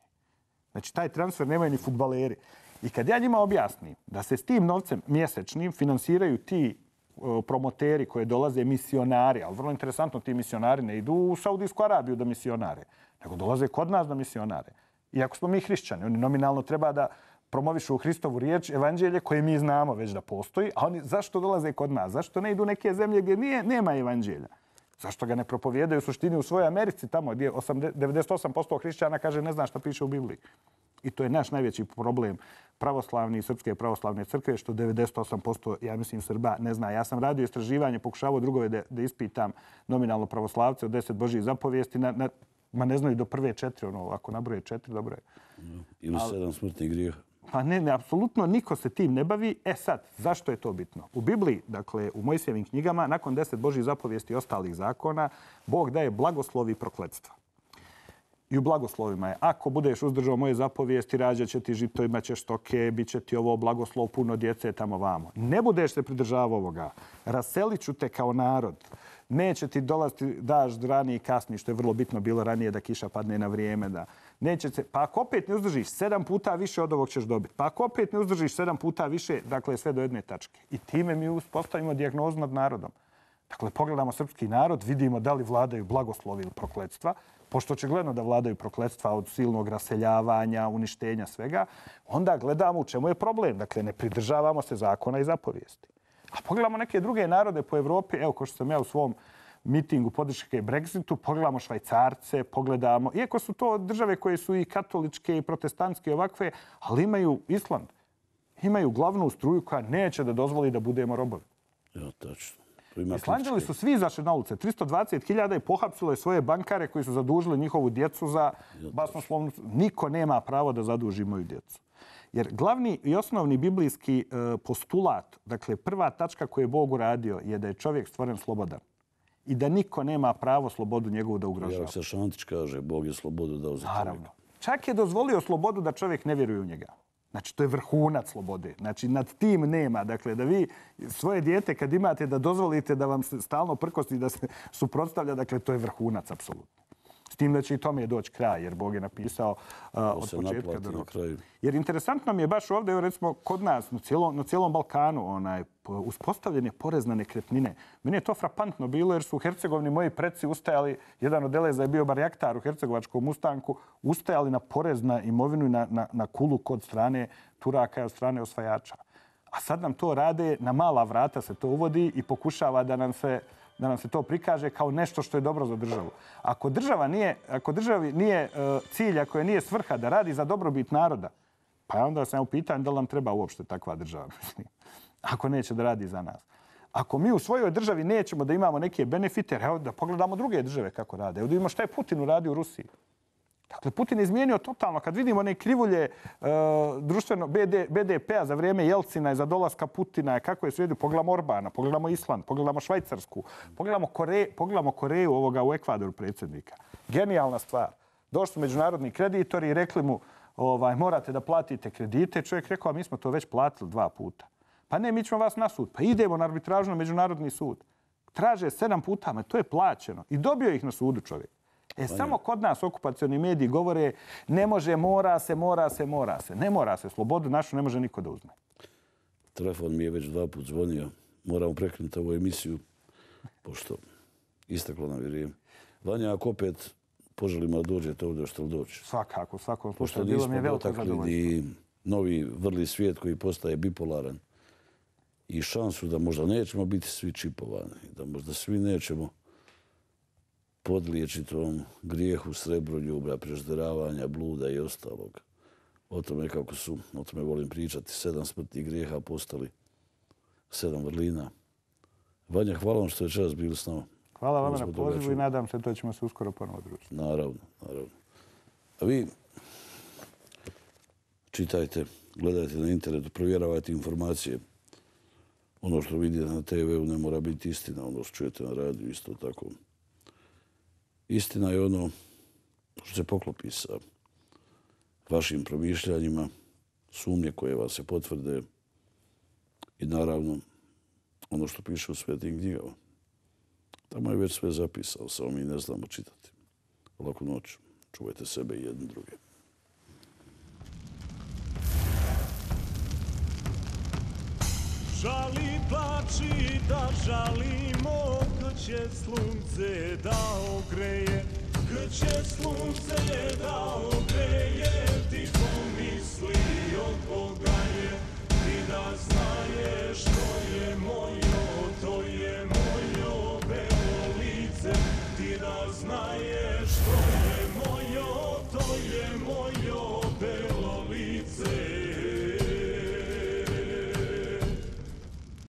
Znači, taj transfer nemaju ni fudbaleri. I kad ja njima objasnim da se s tim novcem mjesečnim finansiraju ti uh, promoteri koje dolaze misionari, ali vrlo interesantno, ti misionari ne idu u Saudijsku Arabiju da misionare, nego dolaze kod nas da misionare. Iako smo mi hrišćani, oni nominalno treba da promovišu Hristovu riječ, evanđelje koje mi znamo već da postoji, a oni zašto dolaze kod nas? Zašto ne idu u neke zemlje gdje nije, nema evanđelja? Zašto ga ne propovijedaju u suštini u svojoj Americi, tamo gdje devedeset osam posto hrišćana kaže ne zna šta piše u Bibliji. I to je naš najveći problem pravoslavne i srpske pravoslavne crkve, što devedeset osam posto, ja mislim, Srba ne zna. Ja sam radio istraživanje, pokušavao drugove da, da ispitam nominalno pravoslavce od deset Božjih zapovijesti, na, na, ma ne znaju do prve četiri, ono, ako nabroje četiri, dobro je. Ili sedam smrtnih grijeha. Pa ne, ne, apsolutno niko se tim ne bavi. E sad, zašto je to bitno? U Bibliji, dakle, u Mojsijevim knjigama, nakon deset Božjih zapovijesti i ostalih zakona, Bog daje blagoslovi i prokletstva. I u blagoslovima je, ako budeš uzdržao moje zapovijesti, rađat će ti žito, imat ćeš stoke, bit će ti ovo blagoslov, puno djece tamo vamo. Ne budeš se pridržavao ovoga, raselit ću te kao narod. Neće ti dolaziti dažd ranije i kasnije, što je vrlo bitno bilo ranije da kiša padne na vrijeme. Da neće se, pa ako opet ne uzdržiš, sedam puta više od ovog ćeš dobiti. Pa ako opet ne uzdržiš sedam puta više, dakle sve do jedne tačke. I time mi uspostavimo dijagnozu nad narodom. Dakle, pogledamo srpski narod, vidimo da li vladaju blagoslovi ili prokletstva, pošto očigledno da vladaju prokletstva od silnog raseljavanja, uništenja svega, onda gledamo u čemu je problem. Dakle, ne pridržavamo se zakona i zapovijesti. A pogledamo neke druge narode po Evropi, evo ko što sam ja u svom mitingu podrške Brexitu, pogledamo Švajcarce, pogledamo, iako su to države koje su i katoličke i protestantske ovakve, ali imaju Island. Imaju glavnu struju koja neće da dozvoli da budemo robovi. Ja, tačno. Islanđani su svi izašli na ulice. tristo dvadeset hiljada i pohapsilo je svoje bankare koji su zadužili njihovu djecu za basnoslovnu... Niko nema pravo da zaduži moju djecu. Jer glavni i osnovni biblijski postulat, dakle prva tačka koju je Bog uradio je da je čovjek stvoren slobodan. I da niko nema pravo slobodu njegovu da ugrožava. Jak se Šantić kaže, Bog je slobodu dao za čovjeka. Čak je dozvolio slobodu da čovjek ne vjeruje u njega. Znači, to je vrhunac slobode. Znači, nad tim nema. Dakle, da vi svoje dijete kad imate da dozvolite da vam se stalno prkosti, da se suprotstavlja, dakle, to je vrhunac, apsolutno. S tim da će i tome je doći kraj, jer Bog je napisao uh, od početka do roka. Jer interesantno mi je baš ovdje, evo recimo, kod nas, na cijelom, na cijelom Balkanu, onaj, uspostavljen je porez na nekretnine. Meni je to frapantno bilo, jer su u Hercegovini moji preci ustajali, jedan od Eleza je bio barjaktar u hercegovačkom ustanku, ustajali na porez na imovinu i na, na, na kulu kod strane Turaka i od strane osvajača. A sad nam to rade, na mala vrata se to uvodi i pokušava da nam se da nam se to prikaže kao nešto što je dobro za državu. Ako država nije, ako državi nije uh, cilj, ako je nije svrha da radi za dobrobit naroda, pa onda sam u pitanju da li nam treba uopšte takva država, mislim. Ako neće da radi za nas. Ako mi u svojoj državi nećemo da imamo neke benefite, evo da pogledamo druge države kako rade. Evo da vidimo šta je Putin uradio u Rusiji. Dakle, Putin je izmijenio totalno. Kad vidimo one krivulje uh, društveno B D P-a za vrijeme Jelcina i za dolaska Putina, kako je svijedio, pogledamo Orbana, pogledamo Island, pogledamo Švajcarsku, pogledamo, Kore, pogledamo Koreju ovoga u Ekvadoru predsjednika. Genijalna stvar. Došli su međunarodni kreditori i rekli mu ovaj, morate da platite kredite. Čovjek rekao, a mi smo to već platili dva puta. Pa ne, mi ćemo vas na sud. Pa idemo na arbitražu na međunarodni sud. Traže sedam puta, ma to je plaćeno. I dobio ih na sudu čovjek. E, samo kod nas okupacioni mediji govore ne može, mora se, mora se, mora se. Ne mora se. Slobodu našu ne može niko da uzme. Telefon mi je već dva put zvonio. Moramo prekinuti ovu emisiju, pošto istaklo nam vrijeme. Vanja, ako opet poželimo da dođete ovdje, što li doći? Svakako, svakom slučaju. slučaju. Bilo mi je veliko zadovoljstvo. Pošto nismo dotakli novi vrli svijet koji postaje bipolaran i šansu da možda nećemo biti svi čipovani, da možda svi nećemo podliječiti ovom grijehu srebroljublja, prežderavanja, bluda i ostalog. o tome kako su, o tome volim pričati, sedam smrtnih grijeha postali sedam vrlina. Vanja, hvala vam što je čas bili s nama. Hvala vam na pozivu i nadam se to ćemo se uskoro ponovo družiti. Naravno, naravno. A vi čitajte, gledajte na internetu, provjeravajte informacije. Ono što vidite na te veu ne mora biti istina, ono što čujete na radiju isto tako. Istina je ono što se poklopi sa vašim promišljanjima, sumnje koje vas se potvrde i naravno ono što piše u svetim knjigama. Tamo je već sve zapisao, samo mi ne znamo čitati. Laku noć. Čuvajte sebe i jedni druge. Žali, plači da žalimo, kad će slunce da ogreje, kad će slunce da ogreje, ti pomisli od Boga je, ti da znaješ to je mojo, to je mojo belo lice, ti da znaješ to je mojo, to je mojo.